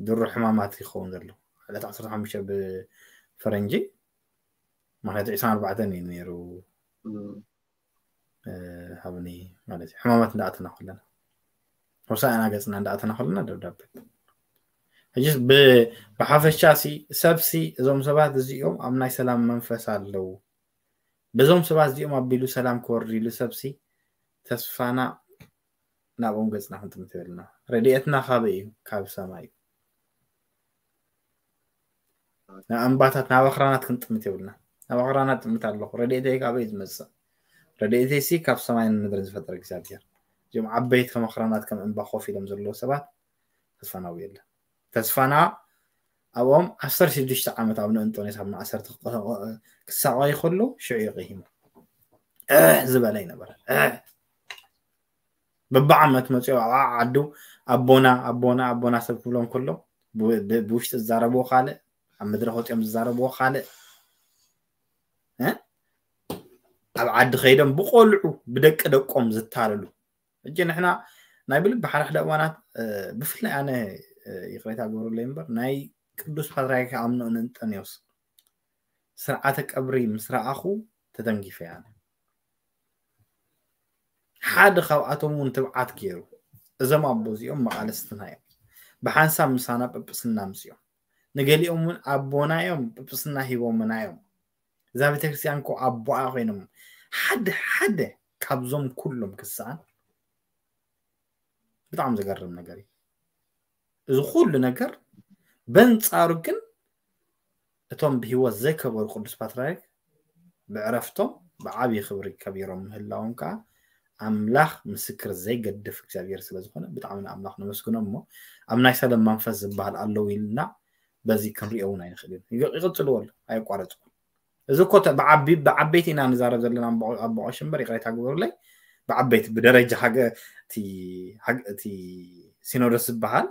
ድሮ ሕማማት ይኸውን ዘሎ ዕለት ዓሰርተ ሓሙሽተ ብፈረንጂ ማለት ዕስራን ኣርባዕተን እዩ ነይሩ። ሃብኒ ማለት እዩ ሕማማት እንዳኣተና ከለና ሆሳዕና ገፅና እንዳኣተና ከለና ደብዳቤ። ሕጂስ ብሓፈሻ ሲ ሰብሲ እዞም ሰባት እዚኦም ኣብ ናይ ሰላም መንፈስ ኣለዉ። በዞም ሰባት እዚኦም ኣቢሉ ሰላም ክወርድ ኢሉ ሰብሲ ተስፋና ናብኦም ገፅና ክንጥምት የብልና። ረድኤትና ካበይ እዩ? ካብ ሰማይ እዩ። ናብ ኣምባታት ናብ ኣኽራናት ክንጥምት የብልና። ናብ ኣኽራናት ጥምት ኣለኹ። ረድኤተይ ካበይ ዝመፅእ? ረድኤተይ ሲ ካብ ሰማይን ምድርን ዝፈጠረ እግዚኣብሔር። እዚኦም ዓበይቲ ከም ኣኽራናት ከም እምባ ኮፍ ኢሎም ዘለዉ ሰባት ተስፋና ኣብኡ የለን። ተስፋና ኣብኦም ዓሰርተ ሽዱሽተ ዓመት ኣብ ንእንጦንዮስ ኣብ ማእሰርቲ ክሳቐዩ ከሎ ሽዑ ይቕሂሙ ዝበለ ይነበረ። በብዓመት መፅኦ ኣብ ዓዱ ኣቦና ኣቦና ኣቦና ሰብ ክብሎም ከሎ ብውሽጢ ዝዛረብዎ ካልእ፣ ኣብ መድረክ ወፂኦም ዝዛረብዎ ካልእ፣ ኣብ ዓዲ ከይዶም ብቆልዑ ብደቂ ደቆም ዝታለሉ። እጂ ንሕና ናይ ብልቢ ሓደ ሓደ እዋናት ብፍላይ ኣነ ይቅሬታ ግበሩለይ እምበር ናይ ቅዱስ ፓትርያርክ ኣምኖ እንንጠንዮስ ስርዓተ ቀብሪ ምስ ረኣኹ ተተንጊፈ እየ። ሓደ ካብኣቶም እውን ትብዓት ገይሩ እዞም ኣቦ እዚኦም መቓልስትና እዮም፣ ብሓንሳብ ምሳና ጵጵስና ኣምፅኦም፣ ንገሊኦም እውን ኣቦና እዮም ጵጵስና ሂቦምና እዮም። እዛ ቤተክርስትያን እኮ ኣቦኣ ኮይኖም ሓደ ሓደ ካብዞም ኩሎም ክሰኣን ብጣዕሚ ዘገርም ነገር እዩ። እዚ ኩሉ ነገር በንጻሩ ግን እቶም ብህይወት ዘይከበሩ ቅዱስ ፓትርያርክ ብዕረፍቶም ብዓብዪ ክብሪ ከቢሮም ምህላዎም ከዓ ኣምላኽ ምስክር ዘይገድፍ እግዚኣብሔር ስለ ዝኾነ ብጣዕሚ ንኣምላኽ ነመስግኖ። እሞ ኣብ ናይ ሰለም መንፈስ ዝበሃል ኣለዉ ኢልና በዚ ክንሪኦ እውን ኣይንኽእል ኢና። ይቕጽልዎ ኣሎ ኣየቋረጽኩ። እዚ እኮ ብዓበይቲ ኢና ንዛረብ ዘለና ኣቦ ቀሺ እምበር ይቕሬታ ግበሩለይ፣ ብዓበይቲ ብደረጃ እቲ ሲኖዶስ ዝበሃል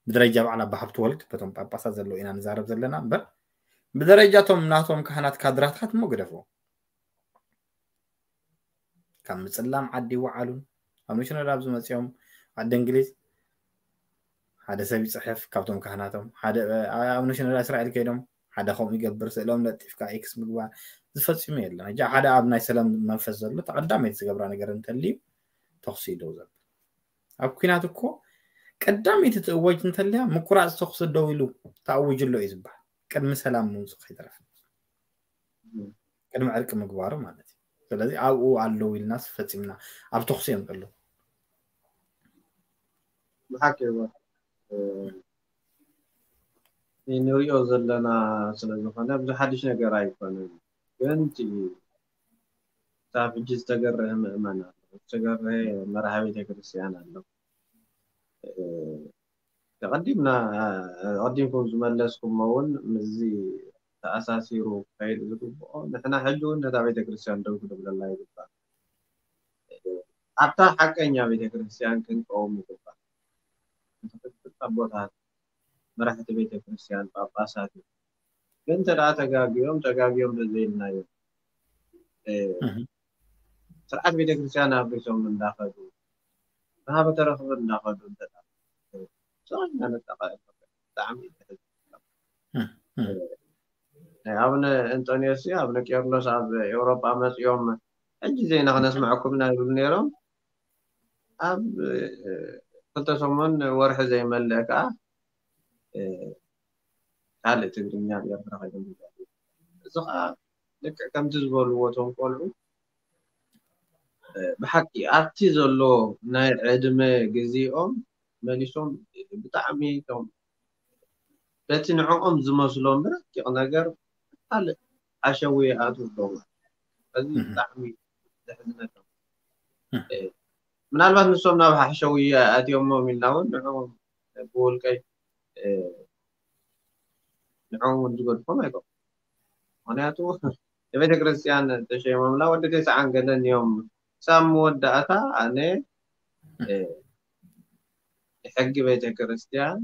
ብደረጃ በዓል ኣባ ሃብተወልድ በቶም ጳጳሳት ዘለዉ ኢና ንዛረብ ዘለና እምበር ብደረጃ እቶም ናቶም ካህናት ካድራታት እሞ ግደፎ። ካብ ምፅላም ዓዲ ይወዓሉን ኣብ ንሽነዳ ኣብዚ መፂኦም ዓዲ እንግሊዝ ሓደ ሰብ ይፅሕፍ ካብቶም ካህናቶም ሓደ ኣብ ንሽነዳ እስራኤል ከይዶም ሓደ ከምኡ ይገብር ስእሎም ለጢፍካ ኤክስ ምግባር ዝፈፂሙ የለን። ሕጂ ሓደ ኣብ ናይ ሰላም መንፈስ ዘሎ ተቐዳመይቲ ዝገብራ ነገር እንተልዩ ተኽሲ ደው ዘብል ኣብ ኩናት እኮ ቀዳመይቲ ትእወጅ እንተልያ ምቁራፅ ተኽሲ ደው ኢሉ ተኣውጅ ኣሎ እዩ ዝበሃል ቅድሚ ሰላም ምውፅእ ከይተረፈ ቅድሚ ዕርቂ ምግባሩ ማለት እዩ። ስለዚ ኣብኡ ኣለዉ ኢልናስ ፈፂምና ኣብ ተኽሲ እዮም ዘለዉ። ብሓቂ ንሪኦ ዘለና ስለዝኾነ ብዙ ሓድሽ ነገር ኣይኮነን። ግን ክሳብ ሕጂ ዝተገረሀ ምእመን ኣሎ፣ ዝተገረሀ መራሒ ቤተክርስትያን ኣሎ። ተቐዲምና ተቐዲምኩም ዝመለስኩሞ እውን ምስዚ ተኣሳሲሩ ክኸይድ ዝግብኦ ንሕና ሕጂ እውን ነታ ቤተክርስትያን ደው ክንብለላ ይግባእ። ኣብታ ሓቀኛ ቤተክርስትያን ክንቀውም ይግባእ። ንትኽክል ኣቦታት መራሕቲ ቤተክርስትያን ጳጳሳት እዩ። ግን እንተ ደኣ ተጋግዮም ተጋግዮም ተዘይልናዮም ስርዓት ቤተክርስትያን ኣፍሪሶም እንዳኸዱ ናሃበ ተረኽቡ እንዳኸዱ እንተ ደኣ ሰብና ነጠቐ ብጣዕሚ ናይ ኣቡነ እንጦንዮስ ኣቡነ ቄርሎስ ኣብ ኤውሮጳ መፅኦም ሕጂ ዜና ክነስምዐኩም ኢና ይብሉ ነይሮም። ኣብ ክልተ ሰሙን ወርሒ ዘይመልእ ከዓ ካልእ ትግርኛ ኣብ ኤርትራ ከይዶም እዚ ከዓ ልክዕ ከምቲ ዝበልዎ እቶም ቆልዑ ብሓቂ ኣብቲ ዘሎ ናይ ዕድመ ግዜኦም መሊሶም ብጣዕሚ ቶም በቲ ንዕኦም ዝመስሎም ብረቂቕ ነገር ካልእ ሓሸዊ ይኣትዉ ኣለዉ። እዚ ብጣዕሚ ዘሕዝነካ ምናልባት ንሶም ናብ ሓሸዊ ኣትዮሞም ኢልና እውን ንዕኦም ብውልቀይ ንዕኦም እውን ዝገድፎም ኣይኮኑ። ምክንያቱ ንቤተ ክርስትያን ተሸይሞምላ ወዲ ተስዓን ገለን እዮም። ሳብ መወዳእታ ኣነ ንሕጊ ቤተ ክርስትያን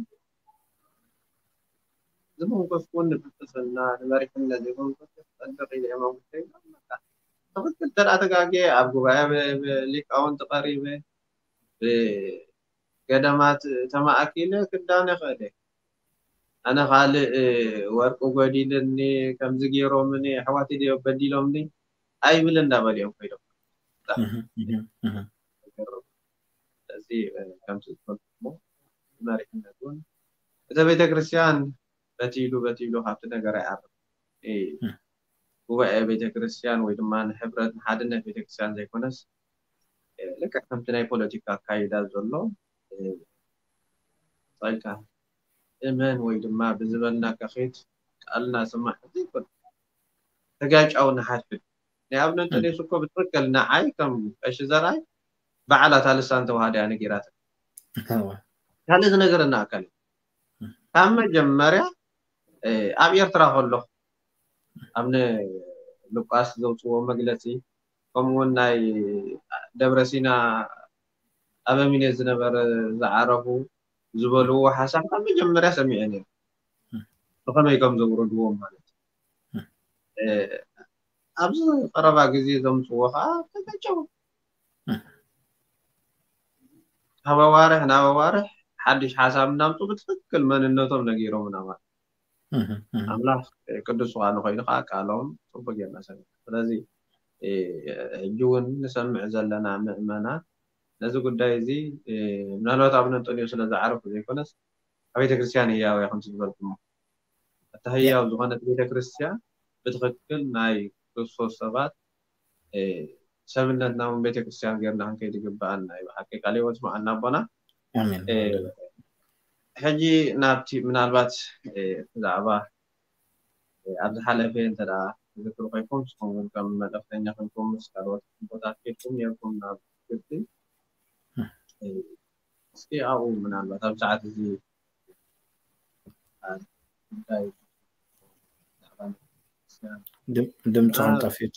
ዝመንኮስኩን ንቅስና ንመሪሕነት ዘይመንኮስኩን ጸድቅ ኢለ እየ መንኩሰ ኢሎም በቃ ትኽክል ተደኣ ተጋግየ ኣብ ጉባኤ ሊቃውንቲ ቀሪበ ብገዳማት ተማእኪለ ክዳነ ክእለ ኣነ ካልእ ወርቂ ጎዲልኒ ከምዚ ገይሮምኒ ኣሕዋት ድዮ በዲሎምኒ ኣይብል እንዳበሉ እዮም ኮይዶም እዚ ከምዚ ዝፈልኩሞ መሪሕነት እውን እተ ቤተክርስትያን በቲ ኢሉ በቲ ኢሉ ካብቲ ነገር ኣይዓርፍ ጉባኤ ቤተክርስትያን ወይ ድማ ንሕብረት ንሓድነት ቤተክርስትያን ዘይኮነስ ልክዕ ከምቲ ናይ ፖለቲካ ኣካይዳ ዘሎ ጸልካ እመን ወይ ድማ ብዝበልና ከኺድ ቃልና ስማዕ ዘይኮነ ተጋጫው ንሓድሕድ ናይ ኣብነ እንተደስ እኮ ብትክክል ንዓይ ከም ቀሺ ዘርኣይ ባዕላ እታ ልሳን ተዋህዳ እያ ነጊራትና። ካልእ ዝነገረና ኣካል ካብ መጀመርያ ኣብ ኤርትራ ከሎ ኣብ ንሉቃስ ዘውፅዎ መግለፂ ከምኡውን ናይ ደብረ ሲና ኣበሚኔት ዝነበረ ዝዓረፉ ዝበልዎ ሓሳብ ካብ መጀመርያ ሰሚዐ ነይሩ። ብኸመይ ከም ዘውረድዎም ማለት ኣብዚ ቀረባ ግዜ ዘምፅዎ ከዓ ተፈጨው ካብ ኣዋርሕ ናብ ኣዋርሕ ሓድሽ ሓሳብ እናምፁ ብትክክል መንነቶም ነጊሮምና ማለት ኣምላኽ ቅዱስ ዝኾነ ኮይኑ ከዓ ቃሎም ፅቡቅ ጌርና ሰሚዕና። ስለዚ ሕጂ እውን ንሰምዕ ዘለና ምእመናን ነዚ ጉዳይ እዚ ምናልባት ኣብ ነንጠልዮ ስለ ዝዓረፉ ዘይኮነስ ኣብ ቤተክርስትያን ህያው እያ ከምቲ ዝበልኩሞ። እታ ህያው ዝኾነት ቤተክርስትያን ብትክክል ናይ ክርስቶስ ሰባት ሰብነትና እውን ቤተክርስትያን ጌርና ክንከይድ ይግበኣና እዩ። ብሓቂ ቃል ህይወት ስምዓልና ኣቦና። ሕጂ ናብቲ ምናልባት ብዛዕባ ኣብ ዝሓለፈ እንተ ትዝክሩ ኮይንኩም ንስኹም እውን ከም መልእኽተኛ ኮይንኩም ምስ ካልኦት ቦታት ኬድኩም ነርኩም ናብ ግብፂ። እስኪ ኣብኡ ምናልባት ኣብ ሰዓት እዚ ድምፅኹም ጠፊት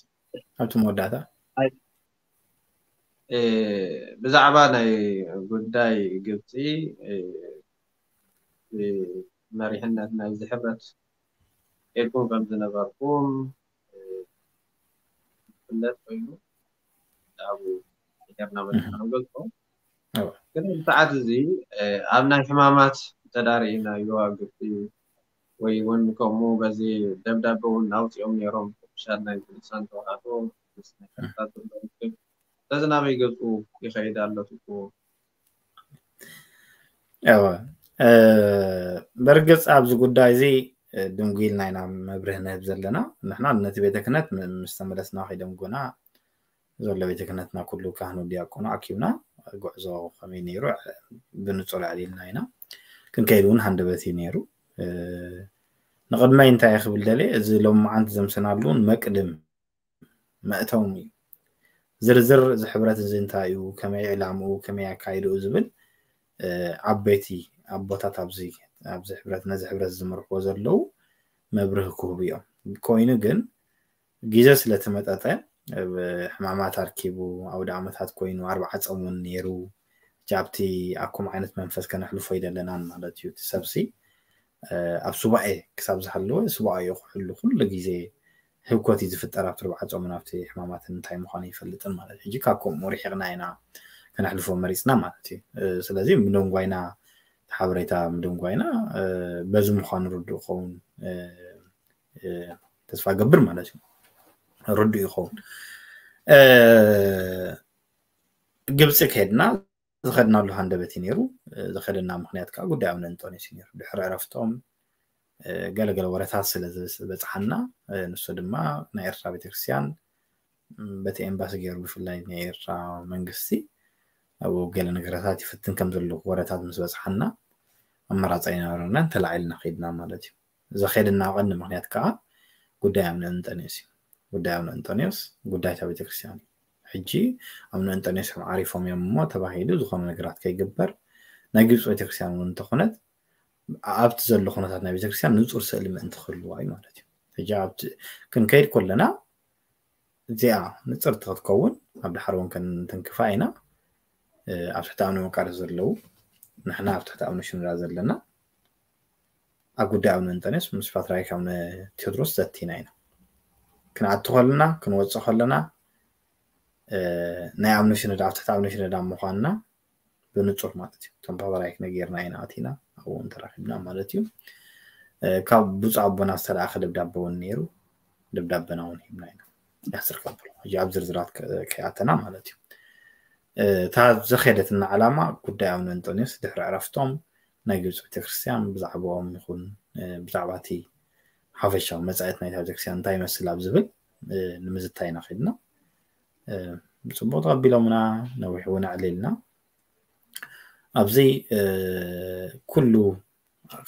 ኣብቲ መወዳእታ ብዛዕባ ናይ ጉዳይ ግብፂ መሪሕነት ናይዚ ሕብረት ኬድኩም ከም ዝነበርኩም ዝፍለጥ ኮይኑ ኣብኡ ሄርና መፅና ንገልፆ ግን ሰዓት እዚ ኣብ ናይ ሕማማት ተዳርኢና ዮሃ ግብፂ ወይ እውን ከምኡ በዚ ደብዳቤ እውን ኣውፂኦም ነይሮም ቅዱሳት ናይ ቅዱሳን ተዋህዶ ተዝናበይ ገፁ ይኸይድ ኣሎ ትብልዎ እወ በርግፅ ኣብዚ ጉዳይ እዚ ድንጉ ኢልና ኢና መብርህ ንህብ ዘለና ንሕና ነቲ ቤተ ክህነት ምስ ተመለስና ከይደንጎና ዘሎ ቤተ ክህነትና ኩሉ ካህኑ ዲያቆኑ ኣኪብና ጉዕዞ ከመይ ነይሩ ብንፁር ኣዕሊልና ኢና ክንከይድ እውን ሃንደበት እዩ ነይሩ ንቅድመይ እንታይ ክብል ደልየ እዚ ሎማዓንቲ ዘምሰናሉ እውን መቅድም መእተውም እዩ ዝርዝር እዚ ሕብረት እዚ እንታይ እዩ ከመይ ዕላምኡ ከመይ ኣካይድኡ ዝብል ዓበይቲ ኣቦታት ኣብዚ ኣብዚ ሕብረት ነዚ ሕብረት ዝመርሕዎ ዘለዉ መብርህ ክህቡ እዮም ኮይኑ ግን ግዜ ስለተመጠጠ ሕማማት ኣርኪቡ ኣውደ ዓመታት ኮይኑ ኣርባዓ ፆም እውን ነይሩ ኣብቲ ኣኩም ዓይነት መንፈስ ከነሕልፎ ይደለናን ማለት እዩ እቲ ሰብሲ ኣብ ሱባኤ ክሳብ ዝሃለወ ሱባኤ ክሕሉ ኩሉ ግዜ ህውከት እዩ ዝፍጠር ኣብቲ ኣርባዓ ፆምን ኣብቲ ሕማማትን እንታይ ምኳኑ ይፈልጥን ማለት ሕጂ ካብ ከምኡ ርሒቕና ኢና ከነሕልፎ መሪፅና ማለት እዩ ስለዚ ምደንጓይና ሓበሬታ ምደንጓይና በዚ ምኳኑ ርዱእ ክኸውን ተስፋ ገብር ማለት እዩ ርዱእ ይኸውን ግብፂ ከሄድና ዝኸድናሉ ሃንደበት እዩ ነይሩ ዝኸደና ምክንያት ከዓ ጉዳይ ኣቡነ እንጦንዮስ እዩ ነይሩ ድሕሪ ዕረፍቶም ገለገለ ወረታት ስለ ዝበፅሓና ንሱ ድማ ናይ ኤርትራ ቤተክርስትያን በቲ ኤምባሲ ገይሩ ብፍላይ ናይ ኤርትራ መንግስቲ ኣብኡ ገለ ነገራታት ይፍትን ከም ዘለዉ ወረታት ምስ በፅሓና ኣመራፂ ኣይነበረናን ተላዒልና ከይድና ማለት እዩ ዘኸደና ቀንዲ ምክንያት ከዓ ጉዳይ ኣቡነ እንጠንዮስ እዩ ጉዳይ ኣቡነ እንጠንዮስ ጉዳይ እታ ቤተክርስትያን እዩ ሕጂ ኣቡነ እንጠንዮስ ዓሪፎም እዮም እሞ ተባሂሉ ዝኾነ ነገራት ከይግበር ናይ ግብፂ ቤተክርስትያን እውን እንተኾነት ኣብቲ ዘሎ ኩነታት ናይ ቤተክርስትያን ንፁር ስእሊ ምእንቲ ክህልዋ እዩ ማለት እዩ ሕጂ ክንከይድ ከለና እዚኣ ንፅርቲ ክትከውን ኣብ ዳሕር እውን ክንትንክፋ ኢና ኣብ ትሕቲ ኣቡነ መቃርዮስ ዘለዉ ንሕና ኣብ ትሕቲ ኣቡነ ሽኖዳ ዘለና ኣብ ጉዳይ ኣቡነ እንጠንዮስ ምስ ፓትርያርክ ኣቡነ ቴዎድሮስ ዘቲና ኢና ክንኣቱ ከለና ክንወፅእ ከለና ናይ ኣቡነ ሽኖዳ ኣብ ትሕቲ ኣቡነ ሽኖዳ ምኳንና ብንፁር ማለት እዩ እቶም ፓትርያርክ ነጊርና ኢና ኣቲና ኣብኡ ተራኺብና ማለት እዩ ካብ ብፁዕ ኣቦና ዝተለኣኸ ደብዳቤ እውን ነይሩ ደብዳቤና እውን ሂብና ኢና ያስር ከብሎ ሕጂ ኣብ ዝርዝራት ከይኣተና ማለት እዩ እታ ዘኸደትና ዓላማ ጉዳይ ኣቡነ እንጠንዮስ ድሕሪ ዕረፍቶም ናይ ግብፂ ቤተክርስትያን ብዛዕባኦም ይኹን ብዛዕባ እቲ ሓፈሻዊ መፃኢት ናይታ ቤተክርስትያን እንታይ ይመስል ኣብ ዝብል ንምዝታይ ኢና ከድና ብፅቡቅ ተቐቢሎምና ነዊሕ እውን ኣዕሊልና ኣብዚ ኩሉ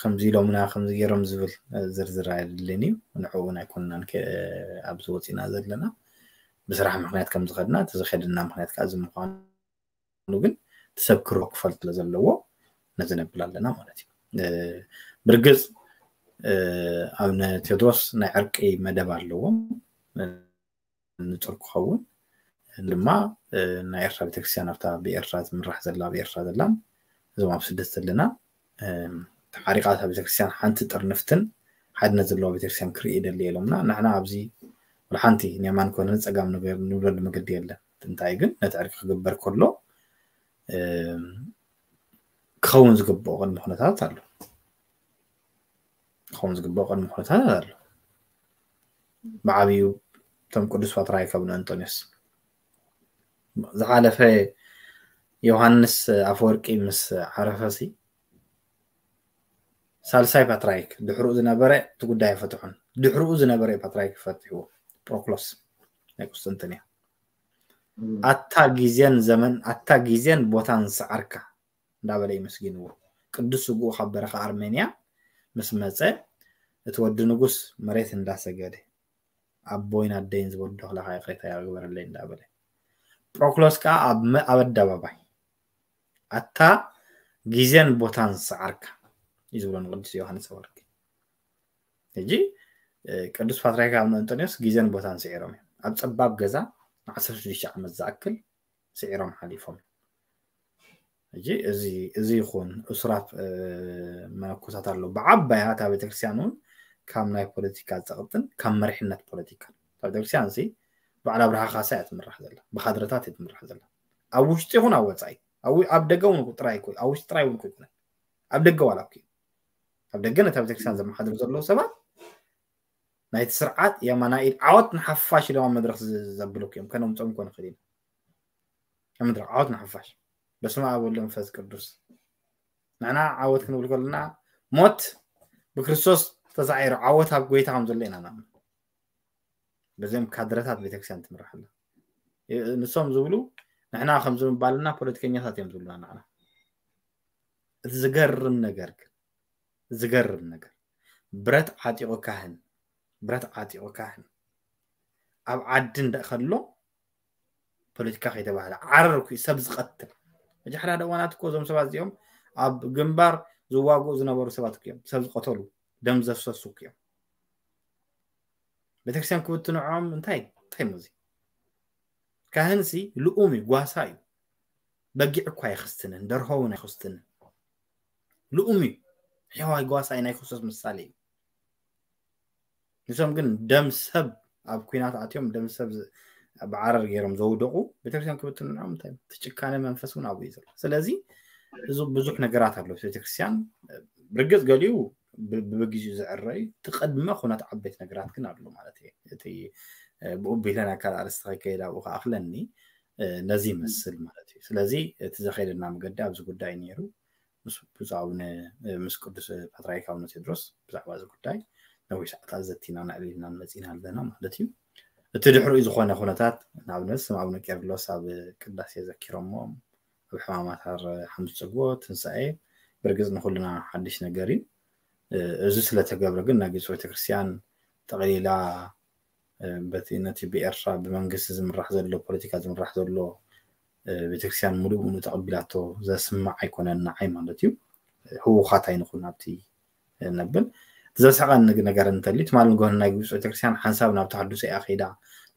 ከምዚ ኢሎምና ከምዚ ገይሮም ዝብል ዝርዝር ኣይድልን እዩ ንዕኡ እውን ኣይኮንናን ኣብዚ ወፂና ዘለና ብስራሕ ምክንያት ከም ዝኸድና እቲ ዝኸድና ምክንያት ከዓ እዚ ምኳኑ ግን ትሰብ ክሮ ክፈል ስለ ዘለዎ ነዚ ነብል ኣለና ማለት እዩ። ብርግፅ ኣብነ ቴድሮስ ናይ ዕርቂ መደብ ኣለዎም። ንፁር ክኸውን ድማ ናይ ኤርትራ ቤተክርስትያን ኣብታ ብኤርትራ ትምራሕ ዘላ ብኤርትራ ዘላን እዞም ኣብ ስደት ዘለና ተሓሪቃ እታ ቤተክርስትያን ሓንቲ ጥርንፍትን ሓድነት ዘለዋ ቤተክርስትያን ክርኢ ደሊ ኢሎምና። ንሕና ኣብዚ ሓንቲ ንየማን ኮነ ንፀጋም ንብለሉ መገዲ የለን። እንታይ ግን ነቲ ዕርቂ ክግበር ከሎ ክኸውን ዝግብኦ ቅድሚ ኩነታት ኣሎ። ክኸውን ዝግብኦ ቅድሚ ኩነታት ኣሎ። ብዓብዩ እቶም ቅዱስ ፓትርያርክ ኣቡነ እንጦንዮስ ዝሓለፈ ዮሃንስ ኣፈወርቂ ምስ ዓረፈሲ ሳልሳይ ፓትርያርክ ድሕርኡ ዝነበረ እቲ ጉዳይ ኣይፈትሑን። ድሕርኡ ዝነበረ ፓትርያርክ ፈትሕዎ። ፕሮክሎስ ናይ ቁስጥንጥንያ። ኣታ ግዜን ዘመን ኣታ ግዜን ቦታን ሰዓርካ እንዳበለ ይመስግንዎ። ቅዱስ ስግኡ ካብ በረኻ ኣርሜንያ ምስ መጸ እቲ ወዲ ንጉስ መሬት እንዳሰገደ ኣቦይን ኣደይን ዝበድለካ ይቕሬታ ይግበረለይ እንዳበለ ፕሮክሎስ ከዓ ኣብ ኣደባባይ ኣታ ግዜን ቦታን ሰዓርካ እዩ ዝብሎ ንቅዱስ ዮሃንስ ኣፈወርቂ። ሕጂ ቅዱስ ፓትርያርክ ኣቡነ እንጦንዮስ ግዜን ቦታን ስዒሮም እዮም ኣብ ፀባብ ገዛ ንዓሰርተ ሽዱሽተ ዓመት ዝኣክል ስዒሮም ሓሊፎም። ሕጂ እዚ ይኹን እሱራት መነኮሳት ኣሎ ብዓባያ እታ ቤተክርስትያን እውን ካብ ናይ ፖለቲካ ፀቕጥን ካብ መሪሕነት ፖለቲካ እታ ቤተክርስትያን ሲ በዓል ኣብርሃ ካሳ እያ ትምራሕ ዘላ ብካድረታት እያ ትምራሕ ዘላ ኣብ ውሽጢ ይኹን ኣብ ወፃኢ ኣብ ደገ እውን ጥራይ ኣብ ውሽጢ ጥራይ እውን ይኮነ ኣብ ደገ ዋላ ኣብ ደገ ነታ ቤተክርስትያን ዘመሓድሩ ዘለዉ ሰባት ናይቲ ስርዓት የማናይ ኢድ ዓወት ንሓፋሽ ኢሎም ኣብ መድረክ ዘብልኩ እዮም ከነምፅኦም ኮነ ክእል ኢና መድረክ ዓወት ንሓፋሽ በስመ ኣብ ወወልድ ወመንፈስ ቅዱስ ንሕና ዓወት ክንብል ከለና ሞት ብክርስቶስ ተሳዒሩ ዓወት ኣብ ጎይታ ከም ዘሎ ኢና ንኣምን በዚኦም ካድረታት ቤተክርስትያን ትምራሕ ኣላ ንሶም ዝብሉ ንሕና ከምዚ ምባልና ፖለቲከኛታት እዮም ዝብሉና ንዓና እቲ ዝገርም ነገር ግን ዝገርም ነገር ብረት ዓጢቑ ካህን ብረት ዓጢቑ ካህን ኣብ ዓዲ እንዳ ከሎ ፖለቲካ ከይተባህለ ዓረር ኩ ሰብ ዝቐትል መጀ ሓደ ሓደ እዋናት እኮ እዞም ሰባት እዚኦም ኣብ ግንባር ዝዋግኡ ዝነበሩ ሰባት እዮም ሰብ ዝቐተሉ ደም ዘፍሰሱ እዮም ቤተክርስትያን ክብትንዖም እንታይ እንታይ ሙዚ ካህንሲ ልኡም እዩ ጓሳ እዩ በጊዕ እኳ ኣይክስትንን ደርሆ እውን ኣይክስትንን ልኡም እዩ ሕዋይ ጓሳ ናይ ክርስቶስ ምሳሌ እዩ ንሶም ግን ደም ሰብ ኣብ ኩናት ኣትዮም ደም ሰብ ብዓረር ገይሮም ዘውደቁ ቤተክርስትያን ክብትንዖም እንታይ ትጭካነ መንፈስ እውን ኣብኡ እዩ ዘሎ ስለዚ እዚ ብዙሕ ነገራት ኣሎ ቤተክርስትያን ርግፅ ገሊኡ ብብግዜኡ ዝዕረ እዩ እቲ ቅድመ ኩነት ዓበይቲ ነገራት ግን ኣሎ ማለት እዩ እቲ ብኡ ቤተን ኣካል ኣርስቲ ከይከይድ ኣብኡ ከኣክለኒ ነዚ ይመስል ማለት እዩ ስለዚ እቲ ዘኸይደና መገዲ ኣብዚ ጉዳይ ነይሩ ምስ ብፁዕ ኣቡነ ምስ ቅዱስ ፓትርያርክ ኣቡነ ቴድሮስ ብዛዕባ እዚ ጉዳይ ነዊሕ ሰዓታት ዘቲና ነዕሊልናን መፂና ኣለና ማለት እዩ እቲ ድሕሪኡ ዝኾነ ኩነታት ንኣብነት ስም ኣቡነ ቄርሎስ ኣብ ቅዳሴ ዘኪሮሞ ኣብ ሕማማት ሃር ሓሙስ ፅግቦ ትንሳኤ ብርግፅ ንኩልና ሓድሽ ነገር እዩ እዚ ስለተገብረ ግን ናይ ግብፂ ቤተክርስትያን ጠቕሊላ በቲ ነቲ ብኤርትራ ብመንግስቲ ዝምራሕ ዘሎ ፖለቲካ ዝምራሕ ዘሎ ቤተክርስትያን ሙሉእ ሙሉእ ተቐቢላቶ ዘስምዕ ኣይኮነን ንዓይ ማለት እዩ ህውኻት ኣይንኹን ኣብቲ ነብል ዘስሕቐኒ ነገር እንተልዩ ትማሊ ንጎኒ ናይ ግብፂ ቤተክርስትያን ሓንሳብ ናብ ተሃድሶ እያ ከይዳ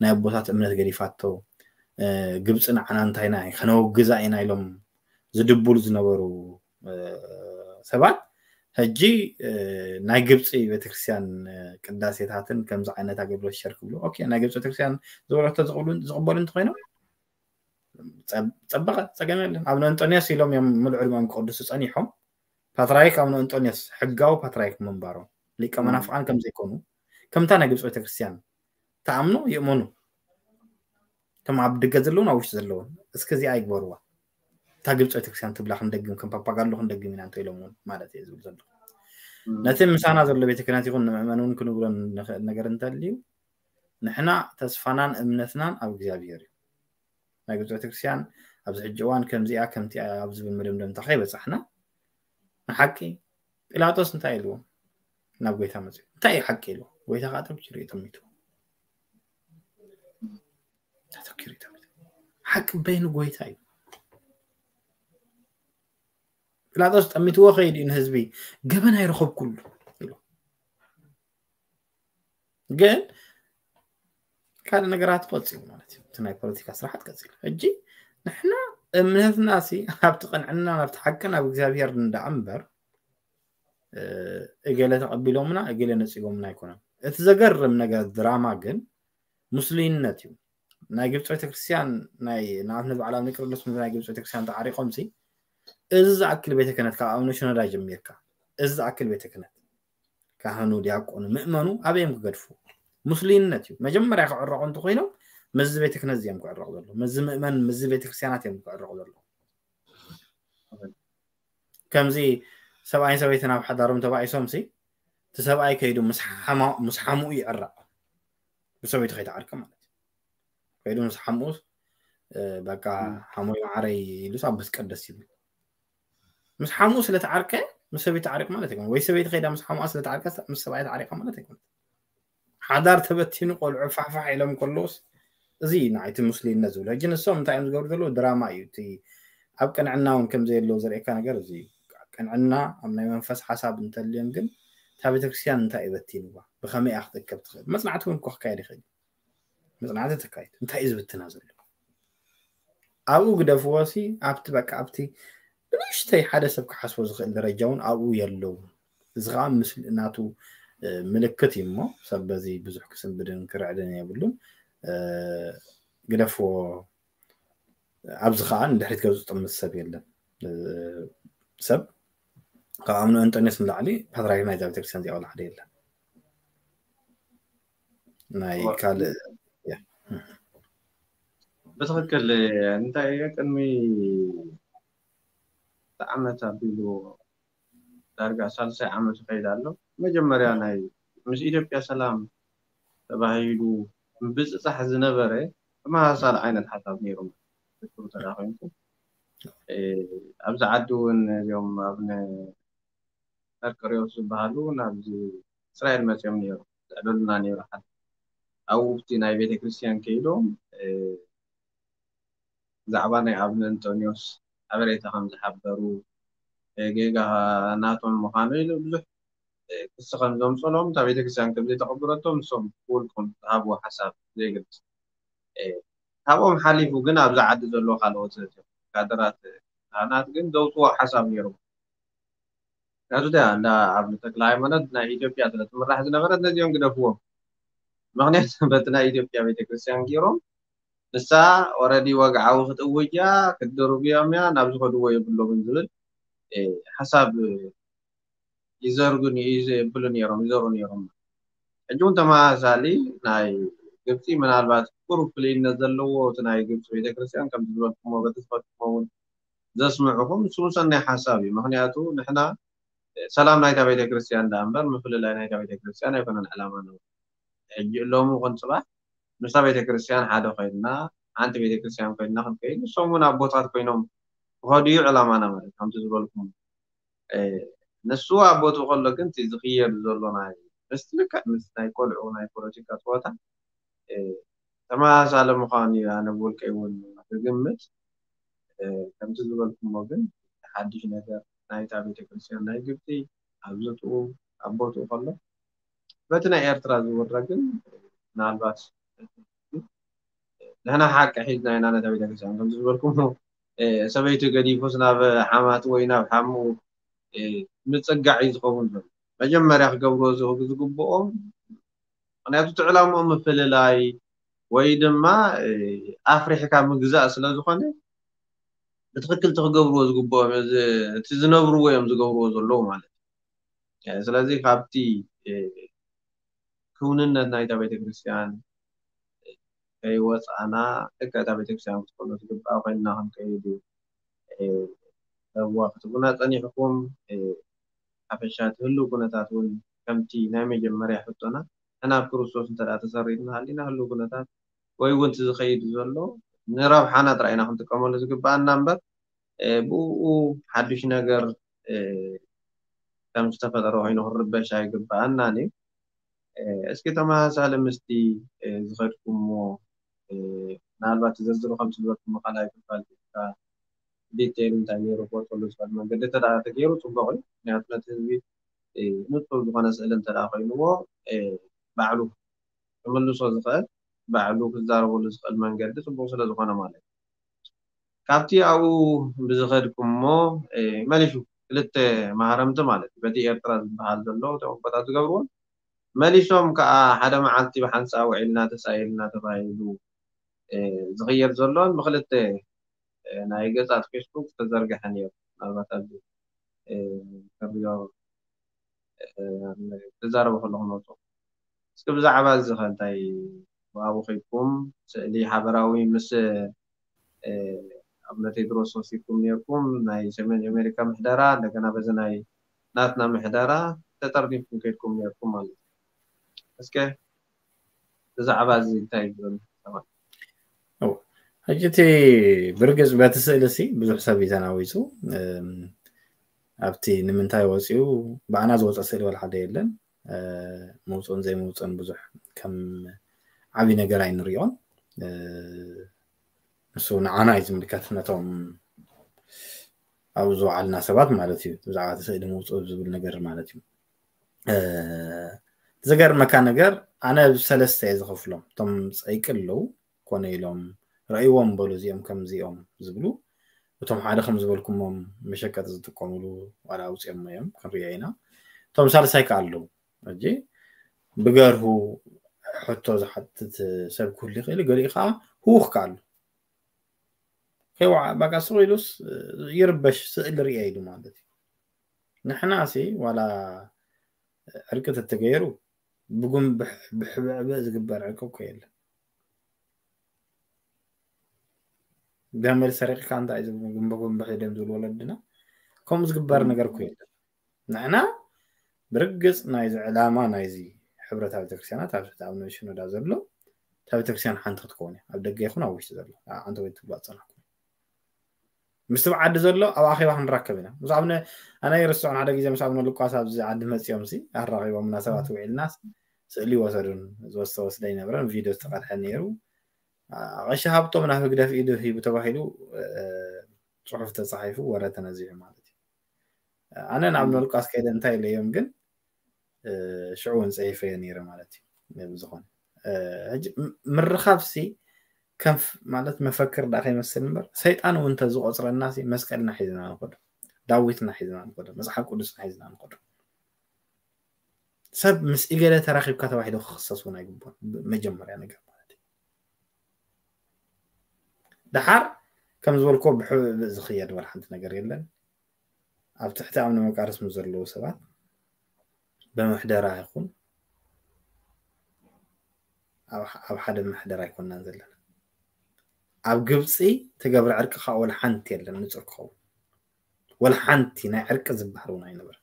ናይ ኣቦታት እምነት ገዲፋቶ ግብፂ ንዓና እንታይና ከነወግዛ ኢና ኢሎም ዝድብሉ ዝነበሩ ሰባት ሕጂ ናይ ግብፂ ቤተክርስትያን ቅዳሴታትን ከምዚ ዓይነት ኣገልግሎት ሸር ክብሉ ናይ ግብፂ ቤተክርስትያን ዝበለቶ ዝቕበሉ እንተኮይኖም ፀበቐ ፀገም የለን ኣብ ንእንጦንዮስ ኢሎም እዮም ምልዑ ድማም ክቅድሱ ፀኒሖም ፓትራይክ ኣብ ንእንጦንዮስ ሕጋዊ ፓትራይክ ምንባሮም ሊቀ መናፍቃን ከምዘይኮኑ ከምታ ናይ ግብፂ ቤተክርስትያን ተኣምኖ ይእመኑ ከም ኣብ ድገ ዘለውን ኣብ ውሽጢ ዘለውን እስከ እዚኣ ይግበርዋ እታ ግብፂ ቤተክርስትያን ትብላ ክንደግም ከም ፓፓጋሎ ክንደግም ኢና እንተ ኢሎም እውን ማለት እየ ዝብል ዘሎ ነቲ ምሳና ዘሎ ቤተ ክህነት ይኹን ንምእመን እውን ክንብሎ ነገር እንተልዩ ንሕና ተስፋናን እምነትናን ኣብ እግዚኣብሔር እዩ ናይ ግብፂ ቤተክርስትያን ኣብዚ ሕጂ እዋን ከምዚኣ ከምቲኣ ኣብ ዝብል መደምደምታ ከይበፃሕና ንሓቂ ጲላጦስ እንታይ ኢልዎ ናብ ጎይታ መፅኡ እንታይ እዩ ሓቂ ኢልዎ ጎይታ ከዓ ተብኪሩ እዩ ተሚቱ ተተኪሩ እዩ ተሚቱ ሓቂ በይኑ ጎይታ እዩ ጲላጦስ ጠሚትዎ ከይድ እዩ ንህዝቢ፣ ገበን ኣይረኸብኩሉ ኢሉ። ግን ካልእ ነገራት ቀፂሉ ማለት እዩ። እቲ ናይ ፖለቲካ ስራሓት ቀፂሉ። ሕጂ ንሕና እምነትና ሲ ኣብቲ ቅንዕና ናብቲ ሓቅን ኣብ እግዚኣብሔር ንዳኣ እምበር እገለ ተቐቢሎምና እገለ ነፂጎምና ኣይኮነን። እቲ ዘገርም ነገር ድራማ ግን ሙስሊምነት እዩ። ናይ ግብፂ ቤተክርስትያን ናይ ንኣብነት በዓል ኣቡነ ቄርሎስ ምስ ናይ ግብፂ ቤተክርስትያን ተዓሪቆም ሲ እዚ ዝኣክል ቤተ ክህነት ካብ ኣቡነ ሽኖዳ ጀሚርካ እዚ ዝኣክል ቤተ ክህነት ካህኑ ዲያቆኑ ምእመኑ ኣበይ እዮም ክገድፉ? ሙስሊምነት እዩ። መጀመርያ ክዕረቑ እንተኮይኖም ምስዚ ቤተ ክህነት እዮም ክዕረቑ ዘለዉ። ምስዚ ምእመን ምስዚ ቤተክርስትያናት እዮም ክዕረቑ ዘለዉ። ከምዚ ሰብኣይን ሰበይትን ኣብ ሓዳሮም ተባኢሶም ሲ እቲ ሰብኣይ ከይዱ ምስ ሓማ- ምስ ሓምኡ ይዕረቕ። ብሰበይቱ ከይተዓርቀ ማለት እዩ። ከይዱ ምስ ሓምኡ በቃ ሓሞይ ማዓረይ ኢሉስ ኣብ መስቀደስ ይብል። ምስ ሓምኡ ስለተዓርቀ ምስ ሰበይቱ ተዓሪቁ ማለት ኣይኮነ። ወይ ሰበይቲ ከይዳ ምስ ሓምኣ ስለተዓርቀ ምስ ሰብኣይ ተዓሪቃ ማለት ኣይኮነ። ሓዳር ተበቲኑ ቆልዑ ፋሕፋሕ ኢሎም ከለውስ እዚ ንዓይቲ ሙስሊምነት ዝብሎ። ሕጂ ንሶም እንታይ እዮም ዝገብሩ ዘለዉ? ድራማ እዩ። እቲ ኣብ ቅንዕና እውን ከም ዘየለዉ ዘርእየካ ነገር እዚ እዩ። ቅንዕና ኣብ ናይ መንፈስ ሓሳብ እንተልዮም ግን እታ ቤተክርስትያን እንታይ እዩ በቲንዋ? ብኸመይ እያ ክትእከብ ትኽእል? መጽናዕቲ እውን እኮ ክካየድ ይኽእል። መጽናዕቲ ተካይድ። እንታይ እዩ ዝብትና ዘሎ? ኣብኡ ግደፍዎ ሲ ኣብቲ በቃ ኣብቲ ብንእሽተይ ሓደ ሰብ ክሓስቦ ዝኽእል ደረጃ እውን ኣብኡ የለውን። እዚ ከዓ ምስል ናቱ ምልክት እዩ እሞ ሰብ በዚ ብዙሕ ክስንብድን ክርዕድን የብሉን። ግደፍዎ። ኣብዚ ከዓ ንድሕሪት ገጹ ጥምት ሰብ የለን። ሰብ ካብ ኣምኖ እንጠንዮስ ንላዕሊ ፓትርያርክ ናይዛ ቤተክርስትያን እዚኣ ዋላ ሓደ የለን። ናይ ካልእ ብትኽክል እንታይ እየ ቅድሚ ዓመት ኣቢሉ ዳርጋ ሳልሳይ ዓመት ይኸይድ ኣሎ። መጀመርያ ናይ ምስ ኢትዮጵያ ሰላም ተባሂሉ ብፅፃሕ ዝነበረ ተመሳሳሊ ዓይነት ሓሳብ ነይሩ። ትክክል ተዳኺምኩ ኣብዚ ዓዲ እውን እዚኦም ኣብ መርቆሬዎስ ዝበሃሉ ናብዚ እስራኤል መፅኦም ነይሩ። ዝዕደሉና ነይሩ ሓደ ኣብኡ ኣብቲ ናይ ቤተክርስትያን ከይዶም ብዛዕባ ናይ ኣቡነ እንጦንዮስ ሓበሬታ ከም ዝሓበሩ ጌጋ ናቶም ምዃኑ ኢሉ ብዙሕ ክሲ ከም ዘምፀሎም እታ ቤተክርስትያን ከም ዘይተቐበለቶም ንሶም ብውልቆም ዝሃብዎ ሓሳብ ዘይገልፅ ካብኦም ሓሊፉ ግን ኣብዚ ዓዲ ዘለዎ ካልኦት ካድራት ካህናት ግን ዘውፅዎ ሓሳብ ነይሩ። ናቱ ዳ እንዳ ኣቡነ ተክለ ሃይማኖት ናይ ኢትዮጵያ ስለ ትምራሕ ዝነበረት ነዚኦም ግደፍዎም። ምክንያቱ በቲ ናይ ኢትዮጵያ ቤተክርስትያን ገይሮም ንሳ ኦረዲ ወግዓዊ ክትእውጅ እያ ክትድርብዮም እያ ናብ ዝኸድዎ የብሎምን ዝብል ሓሳብ ይዘርጉ ይብሉ ነይሮም ይዘሩ ነይሮም። ሕጂ እውን ተመሳሳሊ ናይ ግብፂ ምናልባት ቁሩብ ፍልይነት ዘለዎ እቲ ናይ ግብፂ ቤተክርስትያን ከም ዝበልኩሞ በቲ ዝፈትኩሞ እውን ዘስምዕኹም እሱ ሰናይ ሓሳብ እዩ። ምክንያቱ ንሕና ሰላም ናይታ ቤተክርስትያን ዳ እምበር ምፍልላይ ናይታ ቤተክርስትያን ኣይኮነን ዕላማ ነው። ሕጂ እሎሙ ይኹን ፅባሕ ምስታ ቤተክርስትያን ሓደ ኮይንና ሓንቲ ቤተክርስትያን ኮይንና ክንከይድ ንሶም እውን ኣቦታት ኮይኖም ክኸዱ እዩ ዕላማና ማለት ከምቲ ዝበልኩም ንሱ ኣቦቱ ከሎ ግን እቲ ዝኽየድ ዘሎ ናይ ምስቲ ልክዕ ምስ ናይ ቆልዑ ናይ ፖለቲካ ፀወታ ተመሳሳሊ ምዃኑ እዩ ኣነ ብውልቀይ እውን ዝግምት። ከምቲ ዝበልኩሞ ግን ሓድሽ ነገር ናይታ ቤተክርስትያን ናይ ግብፂ ኣብ ዝጥኡ ኣብ ቦትኡ ከሎ በቲ ናይ ኤርትራ ዝውረ ግን ምናልባት ንሕና ሓቂ ሒዝና ኢና ነታ ቤተክርስትያን ከምቲ ዝበልኩሞ ሰበይቱ ገዲፉስ ናብ ሓማት ወይ ናብ ሓሙ ምፅጋዕ እዩ ዝኸውን ዘሎ። መጀመርያ ክገብርዎ ዝግብኦም ምክንያቱ እቲ ዕላምኦም ምፍልላይ ወይ ድማ ኣፍሪሕካ ምግዛእ ስለ ዝኾነ ብትክክል እቲ ክገብርዎ ዝግብኦም እቲ ዝነብርዎ እዮም ዝገብርዎ ዘለዉ ማለት እዩ። ስለዚ ካብቲ ክውንነት ናይታ ቤተክርስትያን ከይወፃእና ልክዕ እታ ቤተክርስትያን ክትኮኖ ዝግብኣ ኮይንና ክንከይድ እዩ። ረብዋ ክትቡና ፀኒሕኩም ሓፈሻ እቲ ህልው ኩነታት እውን ከምቲ ናይ መጀመርያ ሕቶና ንሕና ኣብ ክርስቶስ እንተ ተሰሪትና ሃሊና ህልው ኩነታት ወይ እውን እቲ ዝኸይድ ዘሎ ንረብሓና ጥራይ ኢና ክንጥቀመሉ ዝግብኣና እምበር ብኡ ሓዱሽ ነገር ከም ዝተፈጠረ ኮይኑ ክንርበሽ ኣይግብኣናን እዩ። እስኪ ተመሳሳሊ ምስቲ ዝኸድኩሞ ምናልባት ዝርዝሩ ከም ዝበልኩሞ ካልኣይ ክፋል ዲቴይል እንታይ ነይሩ ክወፀሉ ዝኽእል መንገዲ እንተ ደኣ ተገይሩ ፅቡቕ እዩ። ምክንያቱ ነቲ ህዝቢ ንፁር ዝኾነ ስእሊ እንተ ደኣ ኮይንዎ ባዕሉ ክምልሶ ዝኽእል ባዕሉ ክዛረበሉ ዝኽእል መንገዲ ፅቡቕ ስለ ዝኾነ ማለት እዩ። ካብቲ ኣብኡ ብዝኸድኩሞ መሊሱ ክልተ ማህረምቲ ማለት እዩ። በቲ ኤርትራ ዝበሃል ዘሎ ተቆጣ ዝገብርዎን መሊሶም ከዓ ሓደ መዓልቲ ብሓንሳእ ውዒልና ተሳኢልና ተባሂሉ ዝኽየድ ዘሎን ብክልተ ናይ ገጻት ፌስቡክ ዝተዘርግሐ ነይሩ። ምናልባት ኣብዚ ከሪዮ ተዛረበ ከለኹ መፁ። እስኪ ብዛዕባ እዚ ከ እንታይ ብኣቡ ከይድኩም ስእሊ ሓበራዊ ምስ ኣብ ነቴድሮስ ወሲድኩም ነርኩም ናይ ሰሜን ኣሜሪካ ምሕደራ እንደገና በዚ ናይ ናትና ምሕደራ ተጠርኒፍኩም ከይድኩም ነርኩም ማለት እዩ። እስከ ብዛዕባ እዚ እንታይ ይብል? ሕጂ እቲ ብርግፅ በቲ ስእሊ ሲ ብዙሕ ሰብ እዩ ተናዊፁ። ኣብቲ ንምንታይ ወፂኡ ብኣና ዝወፀ ስእሊ ወላ ሓደ የለን። ምውፅኡን ዘይምውፅኡን ብዙሕ ከም ዓብዪ ነገር ኣይንሪኦን። ንሱ ንዓና እዩ ዝምልከት፣ ነቶም ኣብኡ ዝወዓልና ሰባት ማለት እዩ። ብዛዕባ እቲ ስእሊ ምውፅኡ ዝብል ነገር ማለት እዩ። ዝገርመካ ነገር ኣነ ብሰለስተ እየ ዝኸፍሎም። እቶም ፀይቂ ኣለዉ ኮነ ኢሎም ረእይዎም በሉ እዚኦም ከምዚኦም ዝብሉ፣ እቶም ሓደ ከም ዝበልኩሞም መሸቀጢ ዝጥቀምሉ ዋላ ኣውፅኦሞ እዮም ክንሪኦ ኢና። እቶም ሳልሳይ ከዓ ኣለዉ። ሕጂ ብገርሁ ሕቶ ዝሓትት ሰብ ክህሉ ይኽእል፣ ገሊኡ ከዓ ህውኽ ከዓ ኣሎ። ከይወዓ ባቃ ስቕ ኢሉስ ይርበሽ ስእሊ ርየ ኢሉ ማለት እዩ። ንሕና ሲ ዋላ ዕርቂ ተተገይሩ ብጉንብሕ ብሕብዕብዕ ዝግበር ዕርቂ እኮ የለን። ገመል ሰሪቕካ እንታይ ዝብሉ ጉንበ ጉንበሕ ደም ዝብሉ ወለድና ከምኡ ዝግበር ነገር እኮ የለን። ንሕና ብርግፅ ናይዚ ዕላማ ናይዚ ሕብረታ ቤተክርስትያናት ኣብ ትሕቲ ኣብ ሽኖዳ ዘሎ እታ ቤተክርስትያን ሓንቲ ክትከውን እያ። ኣብ ደገ ይኹን ኣብ ውሽጢ ዘሎ ኣንተ ወይ ትብሉ ኣፀናሕኩም ምስ ትብዓዲ ዘሎ ኣብ ኣኼባ ክንራከብ ኢና። ምስ ኣብነ ኣነ ይርስዖን ሓደ ግዜ ምስ ኣብነ ሉቃስ ኣብዚ ዓዲ መፂኦም ሲ ኣራኺቦምና ሰባት ውዒልናስ ስእሊ ይወሰዱን ዝወስተ ወስደ ይነብረን ቪድዮ ዝተቐድሐ ነይሩ። ቀሺ ሃብቶም ናብ ህግደፍ ኢዱ ሂቡ ተባሂሉ ፅሑፍ ተፃሒፉ ወረ ተነዚሑ ማለት እዩ። ኣነ ናብ ነሉቃስ ከይደ እንታይ ኢለዮም ግን ሽዑ እውን ፀይፈዮ ነይረ ማለት እዩ። ብዝኾነ ምርኻብ ሲ ከም ማለት መፈክር ዳ ከይመስል እምበር ሰይጣን እውን እንተዝቆፅረና ሲ መስቀልና ሒዝና ንኸዶ፣ ዳዊትና ሒዝና ንኸዶ፣ መፅሓፍ ቅዱስና ሒዝና ንኸዶ። ሰብ ምስ ኢገለ ተራኺብካ ተባሂሉ ክኽሰስ እውን ኣይግባን። መጀመርያ ነገር ማለት እዩ። ደሓር ከም ዝበልኮ ብሕብእ ዝኽየድ ወላ ሓንቲ ነገር የለን። ኣብ ትሕቲ ኣምነ መቃርስ ምስ ዘለዉ ሰባት ብምሕደራ ይኹን ኣብ ሓደ ምሕደራ ኣይኮንናን ዘለና። ኣብ ግብፂ ተገብረ ዕርቂ ከዓ ወላ ሓንቲ የለን ንፁር ክኸውን ወላ ሓንቲ ናይ ዕርቂ ዝበሃል እውን ኣይነበረ።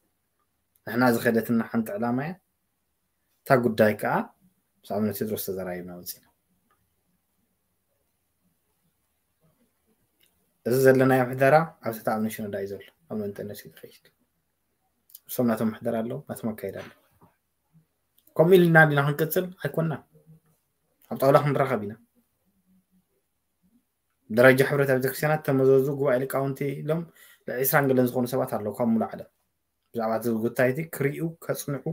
ንሕና ዝኸደትና ሓንቲ ዕላማ እያ። እታ ጉዳይ ከዓ ምስ ኣቡነ ቴድሮስ ተዘራሪብና ወፂና። እዚ ዘለናዮ ምሕደራ ኣብ ትሕቲ ኣቡነ ሽኖዳ እዩ ዘሎ። ኣቡነ እንጠነስ እዩ ዝኸይድ። እሶም ናቶም ምሕደራ ኣለዎ፣ ናቶም ኣካይዳ ኣለዎ። ከምኡ ኢልና ዲና ክንቅፅል ኣይኮንና። ኣብ ጣውላ ክንራኸብ ኢና። ደረጃ ሕብረት ቤተክርስትያናት ተመዘዙ ጉባኤ ሊቃውንቲ ኢሎም ዒስራን ገለን ዝኾኑ ሰባት ኣለዉ ካብ ሙሉ ዓለም ብዛዕባ እቲ ጉዳይ እቲ ክርእዩ ከፅንዑ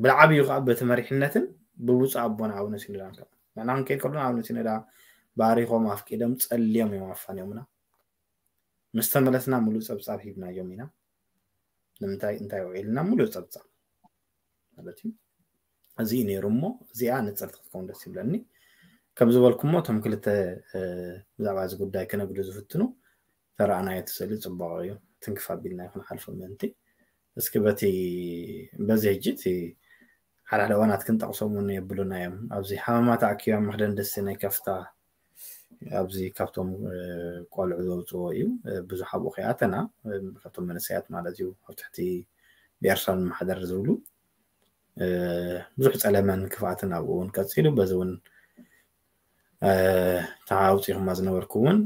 ብዓብዩ ከዓ በቲ መሪሕነትን ብብፁዕ ኣቦና ኣቡነ ሲኖዳን ከዓ ንሕና ክንከይድ ከሎና ኣቡነ ሲኖዳ ባሪኾም ኣፍቂዶም ፀልዮም እዮም ኣፋንዮምና። ምስ ተመለስና ሙሉእ ፀብፃብ ሂብናዮም ኢና። ንምንታይ እንታይ ውዒልና ሙሉእ ፀብፃብ ማለት እዩ። እዚ እዩ ነይሩ እሞ እዚኣ ንፅርቲ ክትከውን ደስ ይብለኒ። ከም ዝበልኩሞ እቶም ክልተ ብዛዕባ እዚ ጉዳይ ክነግዱ ዝፍትኑ ተረኣናዮ እቲ ስእሊ ፅቡቕ እዩ። ትንክፍ ኣቢልና ይኹን ሓልፎ ምእንቲ እስኪ በቲ በዚ ሕጂ እቲ ሓደ ሓደ እዋናት ክንጠቕሶም እውን የብሉና እዮም። ኣብዚ ሓመማ ተኣኪባ መኽደን ደሴ ናይ ከፍታ ኣብዚ ካብቶም ቆልዑ ዘውፅዎ እዩ። ብዙሕ ኣብኡ ከይኣተና ካብቶም መንእሰያት ማለት እዩ ኣብ ትሕቲ ብኤርትራን ማሕደር ዝብሉ ብዙሕ ፀለመን ክፍኣትን ኣብኡ እውን ቀፂሉ በዚ እውን ተዓውፂኹማ ዝነበርኩ እውን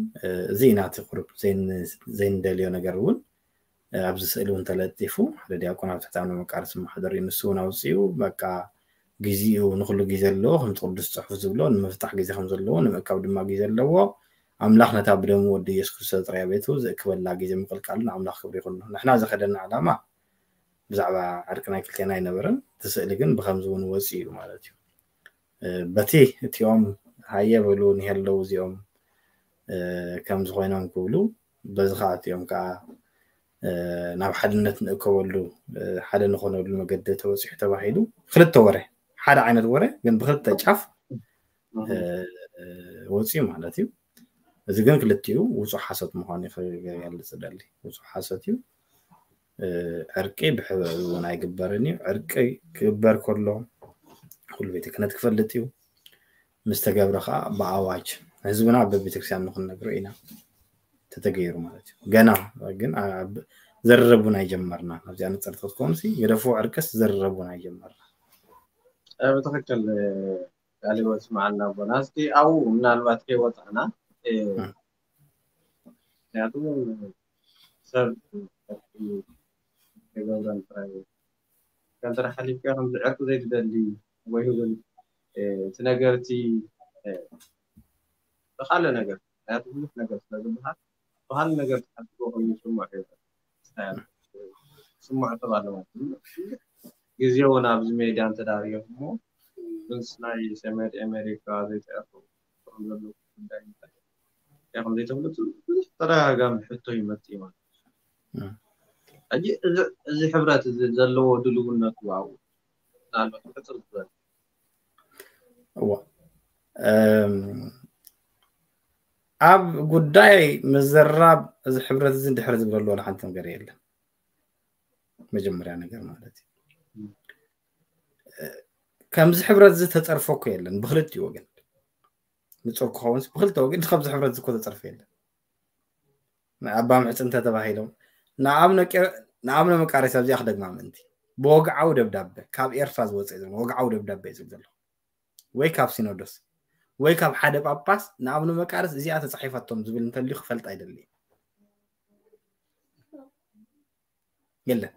እዚ ኢና እቲ ቁሩብ ዘይንደልዮ ነገር እውን ኣብዚ ስእሊ እውን ተለጢፉ ሓደ ዲያቆን ኣብ ትሕቲ ኣምነ መቃርስ ማሕደር እዩ። ንሱ እውን ኣውፅኡ በቃ ግዜኡ ንኩሉ ግዜ ኣለዎ ከምቲ ቅዱስ ፅሑፍ ዝብሎ ንምፍታሕ ግዜ ከም ዘለዎ ንምእካብ ድማ ግዜ ኣለዎ። ኣምላኽ ነታ ብደሙ ወዲ ኢየሱስ ክርስቶስ ጥራይ ቤቱ ዝእክበላ ግዜ ምቕልቃሉ ንኣምላኽ ክብሪ ይኹን። ንሕና ዝኸደና ዕላማ ብዛዕባ ዕርቂ ናይ ክልቴና ኣይነበረን። እቲ ስእሊ ግን ብኸምዚ እውን ወፂኡ እዩ ማለት እዩ። በቲ እቲኦም ሃየ በሉ ንሄለዉ እዚኦም ከምዚ ኮይኖም ክብሉ በዚ ከዓ እቲኦም ከዓ ናብ ሓድነት ንእከበሉ ሓደ ንኾነሉ መገዲ ተበፂሑ ተባሂሉ ክልተ ወረ ሓደ ዓይነት ወረ ግን ብክልተ ጫፍ ወፂኡ ማለት እዩ። እዚ ግን ክልቲኡ ውፁእ ሓሶት ምዃኑ ክገልፅ ደሊ። ውፁእ ሓሶት እዩ። ዕርቂ ብሕብሪ እውን ኣይግበርን እዩ። ዕርቂ ክግበር ከሎ ኩሉ ቤተ ክህነት ክፈልጥ እዩ። ምስ ተገብረ ከዓ ብኣዋጅ ህዝብና በቤተክርስትያን ንክንነግሮ ኢና ተተገይሩ ማለት እዩ። ገና ግን ዘረቡን ኣይጀመርና። ኣብዚኣ ንፅርቲ ክትኮኑ ግደፉ። ዕርቅስ ዘረቡን ኣይጀመርና። ብትክክል ቃል ይወት መዓልና ኣቦና። እስኪ ኣብኡ ምናልባት ከይወፃና ምክንያቱ ሰብ ከገብረን ጥራይ ከምተራ ሓሊፍካ ከምዚ ዕርቂ ዘይትደሊ ወይ እውን እቲ ነገር እቲ ብካልእ ነገር ምክንያቱ ብዙሕ ነገር ስለ ዝበሃል ብካልእ ነገር ተሓስቦ ኮይኑ ይስምዖ ስምዖ ተባለ ማለት ግዜ እውን ኣብዚ ሜድያ እንተዳርዮም እሞ ምስ ናይ ሰሜን ኣሜሪካ ዘይተዕርፉ ዘለዉ ጉዳይ ከም ዘይተፍለጡ ብዙሕ ተደጋጋሚ ሕቶ ይመፅእ ማለት እዩ። ሕጂ እዚ ሕብረት እዚ ዘለዎ ድልውነቱ ኣብኡ ምናልባት ሕፅር ዝበለ እዋ ኣብ ጉዳይ ምዝራብ እዚ ሕብረት እዚ ድሕሪ ዝብለሉ ዋላ ሓንቲ ነገር የለን። መጀመርያ ነገር ማለት እዩ ከምዚ ሕብረት እዚ ተፀርፎ እኮ የለን ብክልቲኡ ወገን ንፁር ክኸውን ብክልተ ወገን ከምዚ ሕብረት እዚ እኮ ተፀርፎ የለን። ኣባ ምሕፅንተ ተባሂሎም ንኣብነ መቃርስ ኣብዚኣ ክደግማ ምእንቲ ብወግዓዊ ደብዳበ ካብ ኤርትራ ዝወፀ ዝብል ወግዓዊ ደብዳበ እዩ ዝብል ዘሎ ወይ ካብ ሲኖዶስ ወይ ካብ ሓደ ጳጳስ ንኣብነ መቃርስ እዚኣ ተፃሒፋቶም ዝብል እንተልዩ ክፈልጥ ኣይደሊ የለን።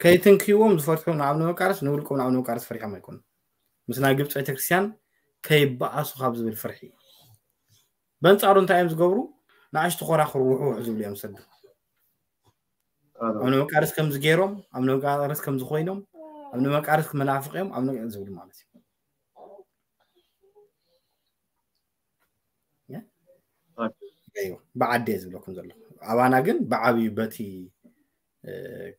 ከይትንክይዎም ዝፈርሑ ንኣብነ መቃርስ ንውልቆም ንኣብነ መቃርስ ፈሪሖም ኣይኮኑ ምስ ናይ ግብፂ ቤተክርስትያን ከይበኣሱ ካብ ዝብል ፍርሒ በንፃሩ እንታይ እዮም ዝገብሩ? ንኣሽቱ ኮራክሩ ውሕውሕ ዝብሉ እዮም ዝሰዱ። ኣብ ንመቃርስ ከምዚ ገይሮም ኣብ ንመቃርስ ከምዚ ኮይኖም ኣብ ንመቃርስ መናፍቅ እዮም ኣብ ዝብሉ ማለት እዩ። ብዓዲ እየ ዝብለኩም ዘሎ ኣባና ግን ብዓብዩ በቲ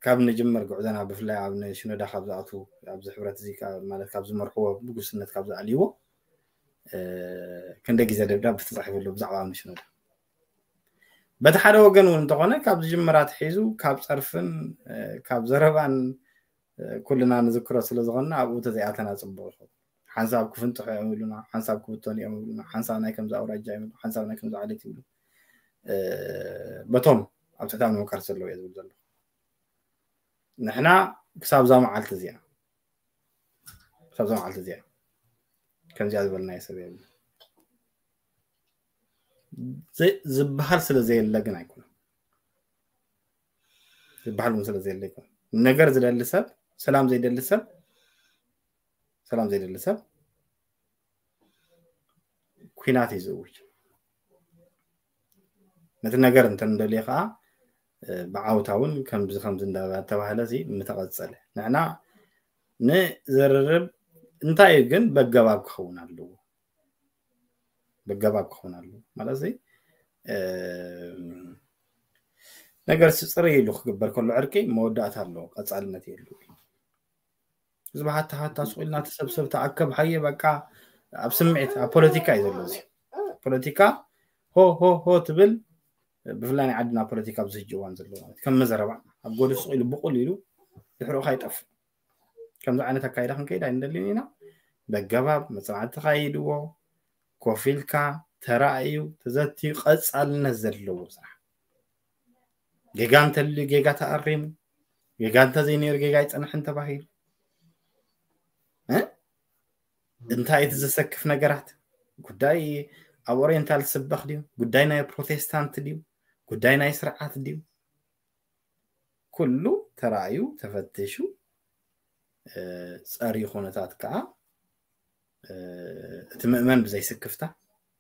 ካብ ንጅምር ጉዕዞና ብፍላይ ኣብ ሽኖዳ ካብ ዝኣትዉ ኣብዚ ሕብረት እዚ ማለት ካብ ዝመርሕዎ ብጉስነት ካብ ዝኣልይዎ ክንደ ግዜ ደብዳብ ተፃሒፈሉ ብዛዕባ ኣብ ሽኖዳ በቲ ሓደ ወገን እውን እንተኾነ ካብ ዝጅምር ኣትሒዙ ካብ ፀርፍን ካብ ዘረባን ኩልና ንዝክሮ ስለ ዝኾንና ኣብኡ ተዘይኣተና ፅቡቅ ይኸውን። ሓንሳብ ክፍንጥሑ እዮም ይብሉና፣ ሓንሳብ ክብተኑ እዮም ይብሉና፣ ሓንሳብ ናይ ከምዚ ኣውራጃ እዮም ይብሉ፣ ሓንሳብ ናይ ከምዚ ዓሌት ይብሉ። በቶም ኣብ ትሕቲ ኣብ ንምቃር ዘለዉ እየ ዝብል ዘለኹ። ንሕና ክሳብ እዛ መዓልቲ እዚኣ ክሳብ እዛ መዓልቲ እዚኣ ከምዚኣ ዝበልናዮ ሰብ የብሉ። ዝበሃል ስለ ዘየለ ግን ኣይኮነን። ዝበሃል እውን ስለ ዘየለ ኣይኮነን። ነገር ዝደሊ ሰብ፣ ሰላም ዘይደሊ ሰብ፣ ሰላም ዘይደሊ ሰብ ኩናት እዩ ዝእውጅ። ነቲ ነገር እንተ ንደልዮ ከዓ ብዓውታ እውን ከምዚ ከምዚ እንዳተባህለ ምተቐፀለ ንሕና ንዘርርብ እንታይ እዩ ግን በገባብ ክኸውን ኣለዎ። በገባብ ክኸውን ኣለዎ ማለት ነገር ስፅር ኢሉ ክግበር ከሎ ዕርቂ መወዳእታ ኣለዎ፣ ቀፃልነት የሉ። ህዝቢ ሃታ ሃታ ስቕ ኢልና ተሰብሰብ ተኣከብ ሃየ በቃ ኣብ ስምዒት ኣብ ፖለቲካ እዩ ዘሎ። እዚ ፖለቲካ ሆ ሆ ሆ ትብል ብፍላይ ናይ ዓድና ፖለቲካ ኣብዚ ሕጂ እዋን ዘሎ ማለት ከም መዘረባ ኣብ ጎዱ ስቕ ኢሉ ብቑል ኢሉ ድሕሪኡ ከይጠፍእ ከምዚ ዓይነት ኣካይዳ ክንከይድ ኣይንደልን ኢና። በገባብ መፅናዕቲ ተካይድዎ ኮፍ ኢልካ ተራእዩ ተዘትዩ ቀፃልነት ዘለዎ ስራሕ ጌጋ እንተልዩ ጌጋ ተኣሪሙ ጌጋ እንተዘይነይሩ ጌጋ ኣይፀንሕን ተባሂሉ እንታይ እቲ ዘሰክፍ ነገራት ጉዳይ ኣብ ኦሪየንታል ስበኽ ድዩ ጉዳይ ናይ ፕሮቴስታንት ድዩ ጉዳይ ናይ ስርዓት ድዩ ኩሉ ተራእዩ ተፈትሹ ፀሪ ኩነታት ከዓ እቲ ምእመን ብዘይስክፍታ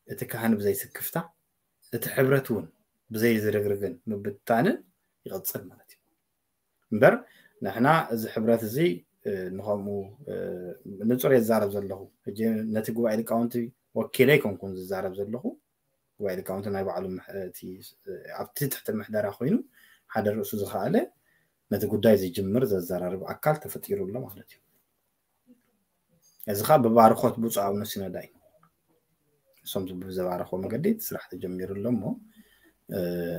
እቲ ካህን ብዘይ ስክፍታ፣ እቲ ሕብረት እውን ብዘይ ዝርግርግን ምብትታንን ይቐጽል ማለት እዩ። እምበር ንሕና እዚ ሕብረት እዚ ንኸምኡ ንጹር የዛረብ ዘለኹ። ሕጂ ነቲ ጉባኤ ሊቃውንቲ ወኪለ ኣይኮንኩን ዝዛረብ ዘለኹ። ጉባኤ ሊቃውንቲ ናይ ባዕሉ ኣብቲ ትሕቲ ምሕደራ ኮይኑ ሓደ ርእሱ ዝኸኣለ ነቲ ጉዳይ ዝጅምር ዘዘራርብ ኣካል ተፈጢሩ ኣሎ ማለት እዩ። እዚ ከዓ ብባርኾት ብፁዕ ኣቡነ ሲኖዳ እዩ። እሶም ብዘባረኽዎ መገዲ እቲ ስራሕ ተጀሚሩ ኣሎ እሞ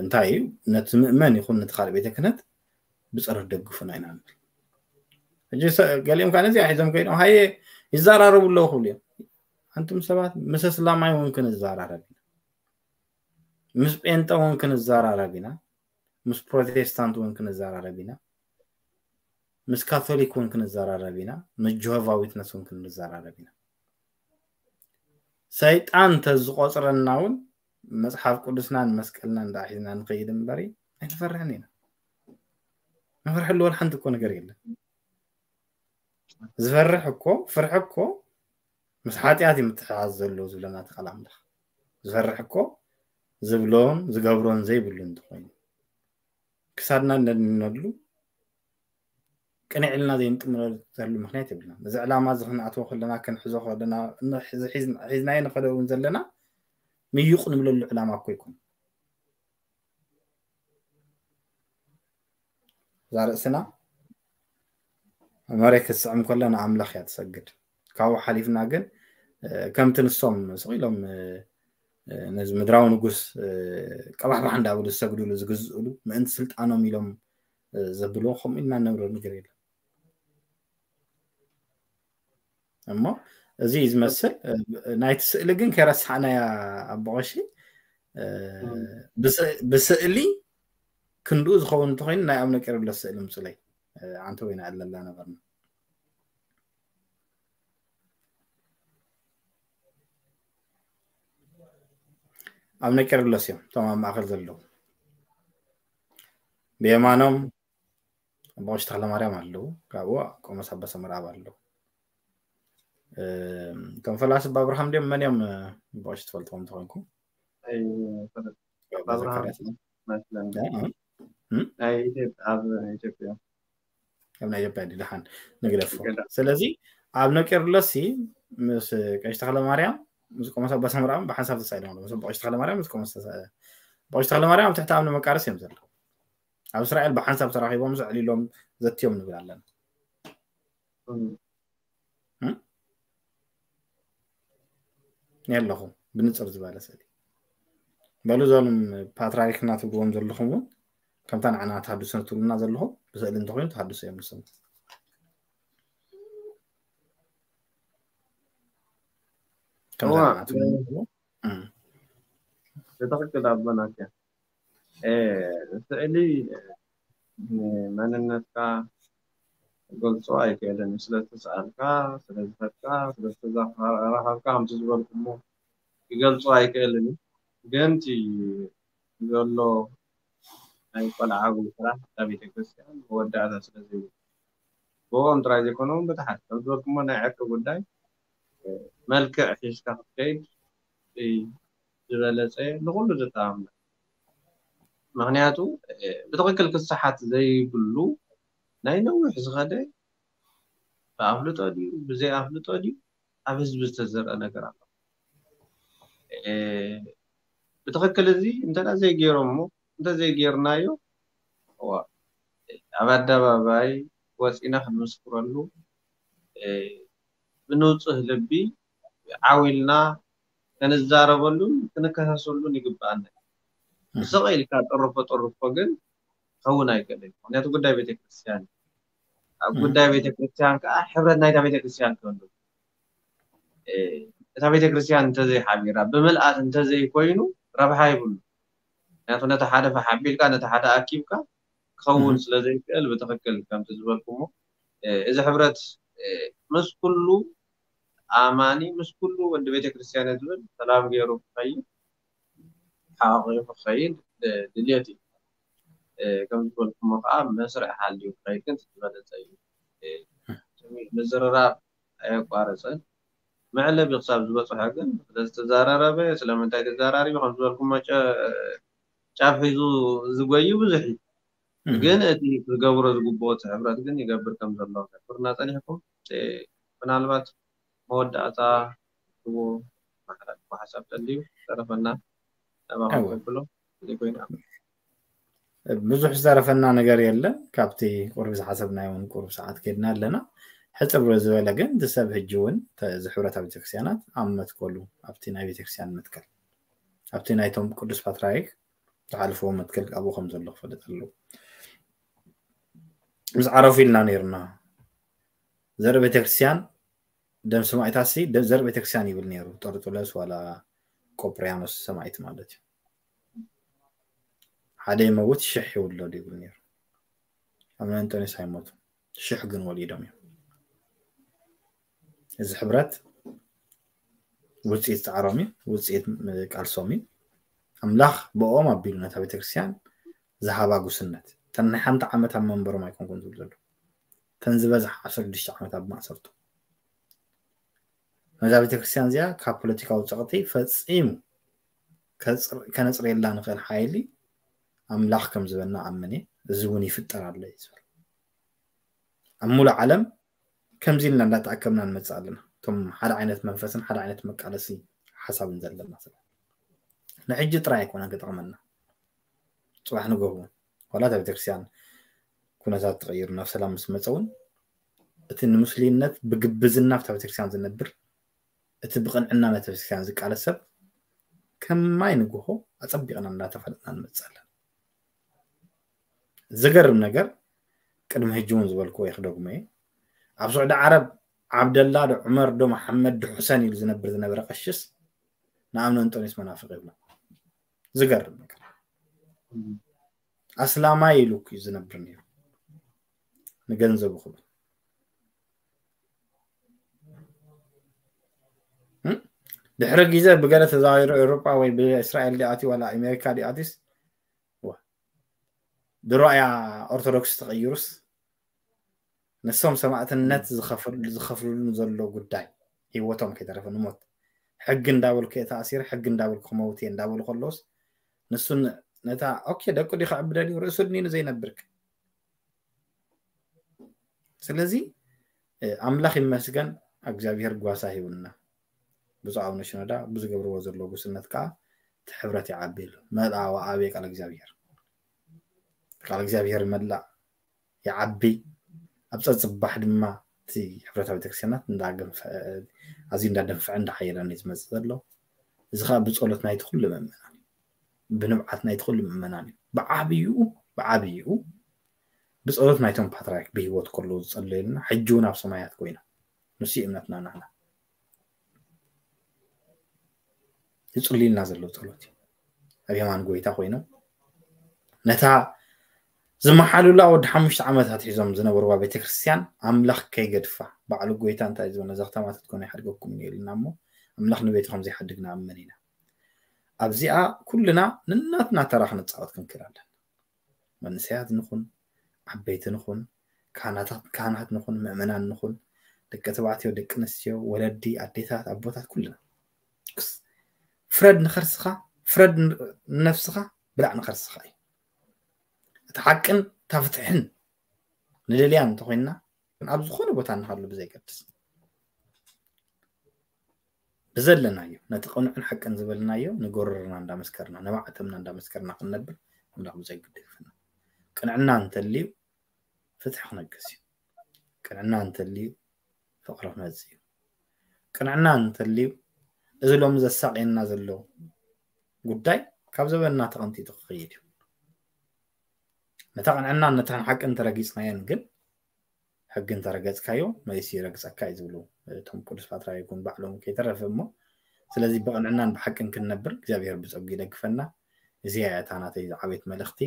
እንታይ እዩ ነቲ ምእመን ይኹን ነቲ ካልእ ቤተ ክህነት ብፀሎት ደግፉና ኢና ንብል። ሕጂ ገሊኦም ከዓ ነዚኣ ሒዞም ከይዶም ሃየ ይዘራረቡ ኣለዉ ክብሉ እዮም። ኣንቱም ሰባት ምስ እስላማይ እውን ክንዘራረብ ኢና፣ ምስ ጴንጠ እውን ክንዘራረብ ኢና፣ ምስ ፕሮቴስታንት እውን ክንዘራረብ ኢና፣ ምስ ካቶሊክ እውን ክንዘራረብ ኢና፣ ምስ ጆሆቫ ዊትነስ እውን ክንዘራረብ ኢና። ሰይጣን እንተዝቆፅረና እውን መፅሓፍ ቅዱስናን መስቀልናን ደኣ ሒዝና ንኸይድ እምበሪ ኣይንፈርሕን ኢና። ንፈርሐሉ ወላ ሓንቲ እኮ ነገር የለን። ዝፈርሕ እኮ ፍርሒ እኮ ምስ ሓጢኣት እዩ ምትሕሓዝ ዘለዎ ዝብለና እቲ ቃል ኣምላኽ። ዝፈርሕ እኮ ዝብሎን ዝገብሮን ዘይብሉ እንተኾይኑ ክሳድና እነድንነሉ ቅንዕ ኢልና ዘይንጥምረሉ ምክንያት የብልና። እዚ ዕላማ እዚ ክንኣትዎ ከለና ክንሕዞ ከለና ሒዝናዮ ንኸደ እውን ዘለና ምይቕ ንብለሉ ዕላማ እኮ ይኮን። እዛ ርእስና መሬት ክትስዕም ከሎ ንኣምላኽ እያ ትሰግድ። ካብኡ ሓሊፍና ግን ከምቲ ንሶም ስቕ ኢሎም ነዚ ምድራዊ ንጉስ ቀባሕባሕ እንዳበሉ ዝሰግድሉ ዝግዝእሉ ምእንቲ ስልጣኖም ኢሎም ዘብልዎ ከምኡ ኢልና ነብሮ ነገር የለን። እሞ እዚ እዩ ዝመስል። ናይቲ ስእሊ ግን ከይረሳዕናያ ኣቦቐሺ ብስእሊ ክንድኡ ዝኸውን እንተኮይኑ ናይ ኣቡነ ቄርሎስ ስእሊ ምፁለይ። ኣንተ ወይና ኣለላ ነበርና። ኣቡነ ቄርሎስ እዮም እቶም ኣብ ማእከል ዘለዉ። ብየማኖም ኣቦቐሺ ተክለ ማርያም ኣለዉ። ካብኡ ቆሞስ ኣባ ሰመርኣብ ኣለዉ። እቶም ፈላሲ ኣባ ኣብርሃም ድዮም መን እዮም? ኣቦቐሺ ትፈልጥዎም እንተኮንኩም ኣብ ናይ ኢትዮጵያ ኣብ ናይ ኢትዮጵያ ድልሓን ንግደፎ። ስለዚ ኣብ ነቄርሎስ ምስ ቀሺ ተክለ ማርያም ምስ ቆሞስ ኣባ ሰምራም ብሓንሳብ ተሳኢሎም ኣለዉ። ምስ ኣቦቐሺ ተክለ ማርያም ምስ ቆሞስ ተሳ- ኣቦቐሺ ተክለ ማርያም ኣብ ትሕቲ ኣምኒ መቃርስ እዮም ዘለዉ። ኣብ እስራኤል ብሓንሳብ ተራኺቦም ዘዕሊሎም ዘትዮም ንብል ኣለና። የለኹም ብንፅር ዝበለ ስእሊ በሉ። እዞም ፓትርያርክና ትብልዎም ዘለኹም እውን ከምታ ንዓና ተሃድሶ ትብሉና ዘለኹም ብስእሊ እንተኮይኑ ተሃድሶ እዮም ንሶም። ከምታ ንዓና ትብሉና ዘለኹም ብትክክል ኣቦና። ስእሊ መንነትካ ክገልፆ ኣይክእልን እዩ። ስለዝተሰኣልካ፣ ስለዝፈትካ፣ ስለዝተራኸብካ ከምቲ ዝበልኩሞ ክገልፆ ኣይክእልን እዩ። ግን እቲ ዘሎ ናይ ቆልዓዊ ስራሕ እታ ቤተክርስትያን መወዳእታ ስለዘይብሉ ብኦም ጥራይ ዘይኮነ እውን በቲ ሓደ ከም ዝበልኩሞ ናይ ዕርቂ ጉዳይ መልክዕ ሒዝካ ክትከይድ ዝበለፀ ንኩሉ ዘተኣማምን። ምክንያቱ ብትክክል ክሰሓት ዘይብሉ ናይ ነዊሕ ዝኸደ ብኣፍልጦ ድዩ ብዘይ ኣፍልጦ ድዩ ኣብ ህዝቢ ዝተዘርአ ነገር ኣሎ። ብትክክል እዚ እንተ ዘይገይሮሞ እንተ ዘይገይርናዮ ኣብ ኣደባባይ ወፂና ክንምስክረሉ ብንፁህ ልቢ ዓው ኢልና ክንዛረበሉን ክንከሳሰሉን ይግበኣና። ስቕ ኢልካ ጥርፎ ጥርፎ ግን ክኸውን ኣይክእልን። ምክንያቱ ጉዳይ ቤተክርስትያን እዩ። ኣብ ጉዳይ ቤተክርስትያን ከዓ ሕብረት ናይታ ቤተክርስትያን ክህሉ እታ ቤተክርስትያን እንተዘይሓቢራ ብምልኣት እንተዘይኮይኑ ረብሓ ይብሉ። ምክንያቱ ነቲ ሓደ ፈሓቢልካ ነቲ ሓደ ኣኪብካ ክኸውን ስለዘይክእል ብትክክል ከምቲ ዝበልኩሞ እዚ ሕብረት ምስ ኩሉ ኣማኒ ምስ ኩሉ ወዲ ቤተክርስትያን ዝብል ሰላም ገይሩ ክኸይድ ሓቂቑ ክኸይድ ድልየት እዩ። ከም ዝበልኩሞ ከዓ መስርዕ ሃልዩ ክኸይድ ግን ዝበለፀ እዩ። ምዝርራብ ኣየቋረፀን። መዕለቢ ክሳብ ዝበፅሖ ግን ስለዝተዘራረበ ስለምንታይ ተዘራሪቡ ከም ዝበልኩሞ ጨ- ጫፍ ሒዙ ዝጎዩ ብዙሕ እዩ። ግን እቲ ክገብሮ ዝግብኦ እቲ ሕብረት ግን ይገብር ከም ዘሎ ክሕብርና ፀኒሕኩም። ምናልባት መወዳእታ ትዎ ማሕላልኩ ሓሳብ ተልዩ ተረፈና ናባኹም እወ። ከብሎ ዘይኮይና ብዙሕ ዝተረፈና ነገር የለን። ካብቲ ቁርብ ዝሓሰብናዮ እውን ቁርብ ሰዓት ከድና ኣለና። ሕፅር ዝበለ ግን እቲ ሰብ ሕጂ እውን ተ- እዚ ሕብረታ ቤተክርስትያናት ኣብ መትከሉ ኣብቲ ናይ ቤተክርስትያን መትከል ኣብቲ ናይቶም ቅዱስ ፓትርያርክ ዝሓልፍዎ መትከል ኣብኡ ከም ዘሎ ክፈልጥ ኣለዎ። ምስ ዓረፉ ኢልና ነይርና። ዘርኢ ቤተክርስትያን ደም ሰማዕታት ሲ ደም ዘርኢ ቤተክርስትያን ይብል ነይሩ። ጠርጡለስ ዋላ ቆጵርያኖስ ሰማዕት ማለት እዩ። ሓደ ይመውት ሽሕ ይውለዱ ይብል ነይሩ። ኣቡነ እንጦንዮስ ኣይሞቱ ሽሕ ግን ወሊዶም እዮም። እዚ ሕብረት ውፅኢት ፃዕሮም እዩ፣ ውፅኢት ቃልሶም እዩ። ኣምላኽ ብኦም ኣቢሉ ነታ ቤተክርስትያን ዝሃባ ጉስነት ተን ናይ ሓንቲ ዓመት ኣብ መንበሮም ኣይኮንኩን ዝብል ዘሎ ተን ዝበዝሕ ዓሰርተ ሽዱሽተ ዓመት ኣብ ማእሰርቱ ነዛ ቤተክርስትያን እዚኣ ካብ ፖለቲካዊ ፀቕጢ ፈፂሙ ከፅር- ከነፅርየላ ንኽእል ሓይሊ ኣምላኽ ከም ዝበና ኣምን እየ። እዚ እውን ይፍጠር ኣሎ እዩ ዝብል ኣብ ሙሉእ ዓለም ከምዚ ኢልና እንዳተኣከብና ንመፅእ ኣለና። እቶም ሓደ ዓይነት መንፈስን ሓደ ዓይነት መቃለሲ ሓሳብን ዘለና ሰባት ንሕጂ ጥራይ ኣይኮነን ክጠቕመና። ፅባሕ ንጎ እውን ዋላ እታ ቤተክርስትያን ኩነታት ተቐይሩ ናብ ሰላም ምስ መፀ እውን እቲ ንሙስሊምነት ብግብዝና ኣብታ ቤተክርስትያን ዝነብር እቲ ብቕንዕና ነቲ ቤተክርስትያን ዝቃለስ ሰብ ከማይ ንግሆ ኣፀቢቕና እንዳተፋለጥና ንመፅእ ኣለና። ዝገርም ነገር ቅድሚ ሕጂ እውን ዝበልክዎ ይክደግሞ እየ። ኣብ ስዑዲ ዓረብ ዓብደላ ዶ ዑመር ዶ መሓመድ ዶ ሑሰን ኢሉ ዝነብር ዝነበረ ቀሽስ ንኣምነ እንጦንዮስ መናፍቅ ይብሎ። ዝገርም ነገር ኣስላማይ ኢሉ እዩ ዝነብር ነይሩ ንገንዘቡ ክብል ድሕሪ ግዜ ብገለ ተዛዊሩ ኤውሮጳ ወይ ብእስራኤል ዲኣትዩ ዋላ ኣሜሪካ ዲኣትዩስ ድሮ እያ ኦርቶዶክስ ተቐይሩስ ንሶም ሰማእትነት ዝኸፍልሉ ዘሎ ጉዳይ ህይወቶም ከይተረፈ ንሞት ሕጊ እንዳበልኩ እየ ተኣሲረ ሕጊ እንዳበልኩ ክመውት እየ እንዳበሉ ከለውስ ንሱ ነታ ኦኬ ደቁ ዲ ክዕብደል እዩ ርእሱ ድኒኑ ዘይነብርክ ስለዚ ኣምላኽ ይመስገን እግዚኣብሔር ጓሳ ሂቡና ብፁዕ ኣቡነ ሽኖዳ ብዝገብርዎ ዘሎ ጉስነት ከዓ እቲ ሕብረት ይዓቢ ኢሉ መልኣ ወኣበየ ቃል እግዚኣብሔር ቃል እግዚኣብሔር ይመላእ ይዓቢ ኣብ ፀፅባሕ ድማ እቲ ሕብረታ ቤተክርስትያናት ኣዝዩ እንዳደንፈዐ እንዳሓየለን እዩ ዝመፅእ ዘሎ እዚ ከዓ ብፀሎት ናይቲ ኩሉ ምእመናን እዩ ብንብዓት ናይቲ ኩሉ ምእመናን እዩ ብዓብይኡ ብዓብይኡ ብፀሎት ናይቶም ፓትርያርክ ብህይወት ከለዉ ዝፀለዩልና ሕጂ እውን ኣብ ሰማያት ኮይኖም ንሱ እምነትና ናህና ዝፅልዩልና ዘለዉ ፀሎት እዩ ኣብ የማን ጎይታ ኮይኖም ነታ ዝመሓሉላ ወዲ ሓሙሽተ ዓመታት ሒዞም ዝነበርዋ ቤተክርስትያን ኣምላኽ ከይገድፋ ባዕሉ ጎይታ እንታይ ዝበለ ነዛ ከተማ ትትኮነ ይሓድገኩም እዩ ኢልና እሞ ኣምላኽ ንቤቱ ከም ዘይሓድግ ንኣምን ኢና ኣብዚኣ ኩልና ንናትና ተራ ክንፃወት ክንክእል ኣለና መንእሰያት ንኹን ዓበይቲ ንኹን ካህናት ንኹን ምእመናን ንኹን ደቂ ተባዕትዮ ደቂ ኣንስትዮ ወለዲ ኣዴታት ኣቦታት ኩልና ፍረድ ንኸርስኻ ፍረድ ንነፍስኻ ብላዕ ንኸርስኻ እዩ እቲ ሓቅን እታ ፍትሕን ንደልያ እንተኮይንና ኣብ ዝኾነ ቦታ እንሃሉ ብዘይገድስ ብዘለናዮ ነቲ ቅኑዕን ሓቅን ዝበልናዮ ንጎረርና እንዳመስከርና ንባዕተምና እንዳመስከርና ክንነብር ኣምላኽ ብዘይ ግድግፍና ቅንዕና እንተልዩ ፍትሒ ክነግስ እዩ ቅንዕና እንተልዩ ፍቕሪ ክመፅእ እዩ ቅንዕና እንተልዩ እዚ ሎሚ ዘሳቅየና ዘሎ ጉዳይ ካብ ዘበንና ተቐንጢጡ ክኸይድ እዩ ነታ ቅንዕና ነታን ሓቅን ተረጊፅናየን ግን ሕጊ እንተረገፅካዮ መሊሱ ይረግፀካ እዩ ዝብሉ እቶም ቅዱስ ፓትርያርክ እውን ባዕሎም ከይተረፈ እሞ ስለዚ ብቕንዕናን ብሓቅን ክንነብር እግዚኣብሔር ብፀጉ ይደግፈና እዚኣ እያ እታ ናተይ ዝዓበየት መልእኽቲ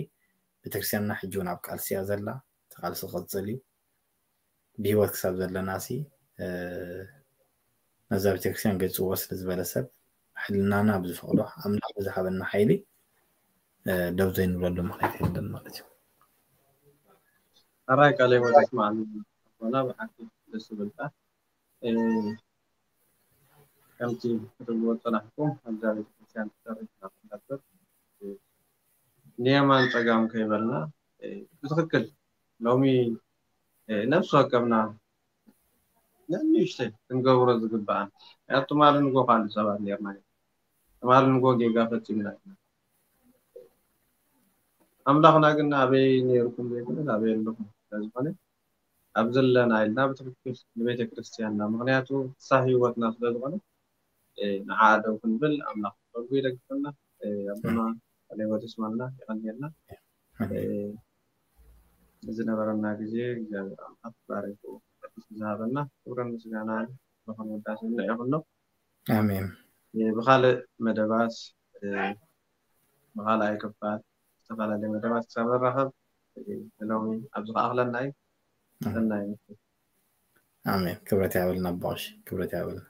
ቤተክርስትያንና ሕጂ እውን ኣብ ቃልሲ እያ ዘላ እቲ ቃልሲ ክቕፅል እዩ ብህይወት ክሳብ ዘለና ሲ ነዛ ቤተክርስትያን ገፅዎ ስለ ዝበለ ሰብ ሕልናና ብዝፈቕዶ ኣምላኽ ብዝሃበና ሓይሊ ደው ዘይንብለሉ ምክንያት የለን ማለት እዩ ኣራይ ቃለ ህይወት ኣስማዕና ኣቦና ብሓቂ ደስ ዝብልካ ከምቲ ክትብልዎ ዝጸናሕኩም ኣብዛ ቤተክርስትያን ትሰርሕ ናብ እንዳበር ንየማን ጸጋም ከይበልና ብትኽክል ሎሚ ነፍሲ ወከፍና ንንእሽተይ ክንገብሮ ዝግባኣን ምክንያቱ ትማሊ ንጎ ካልእ ሰባት ነርና ትማሊ ንጎ ጌጋ ፈጺምና ኢና ኣምላኽና ግን ኣበይ ነርኩም ዘይኮነ ኣበይ ኣለኹም ስለዝኾነ ኣብ ዘለና ኢልና ብትክክል ንቤተ ክርስትያንና ምክንያቱ እሳ ህይወትና ስለዝኾነ ንዓ ደው ክንብል ኣምላኽ ጸጉ ይደግፈና ኣቦና ሌወት ይስማልና ይቀንየልና ዝነበረና ግዜ እግዚኣብሔር ኣምላኽ ባሪኩ ዝሃበና ክብርን ምስጋና ንኾን ውዳሴ ንዕኹኖ ኣሜን ብካልእ መደባት ብካልኣይ ክፋል ዝተፈላለዩ መደባት ክሳብ ንራኸብ ሎሚ ኣብዚ ከኣኽለና እዩ ሰናይ ኣሜን ክብረት ያበልና ኣቦሽ ክብረት ያበልና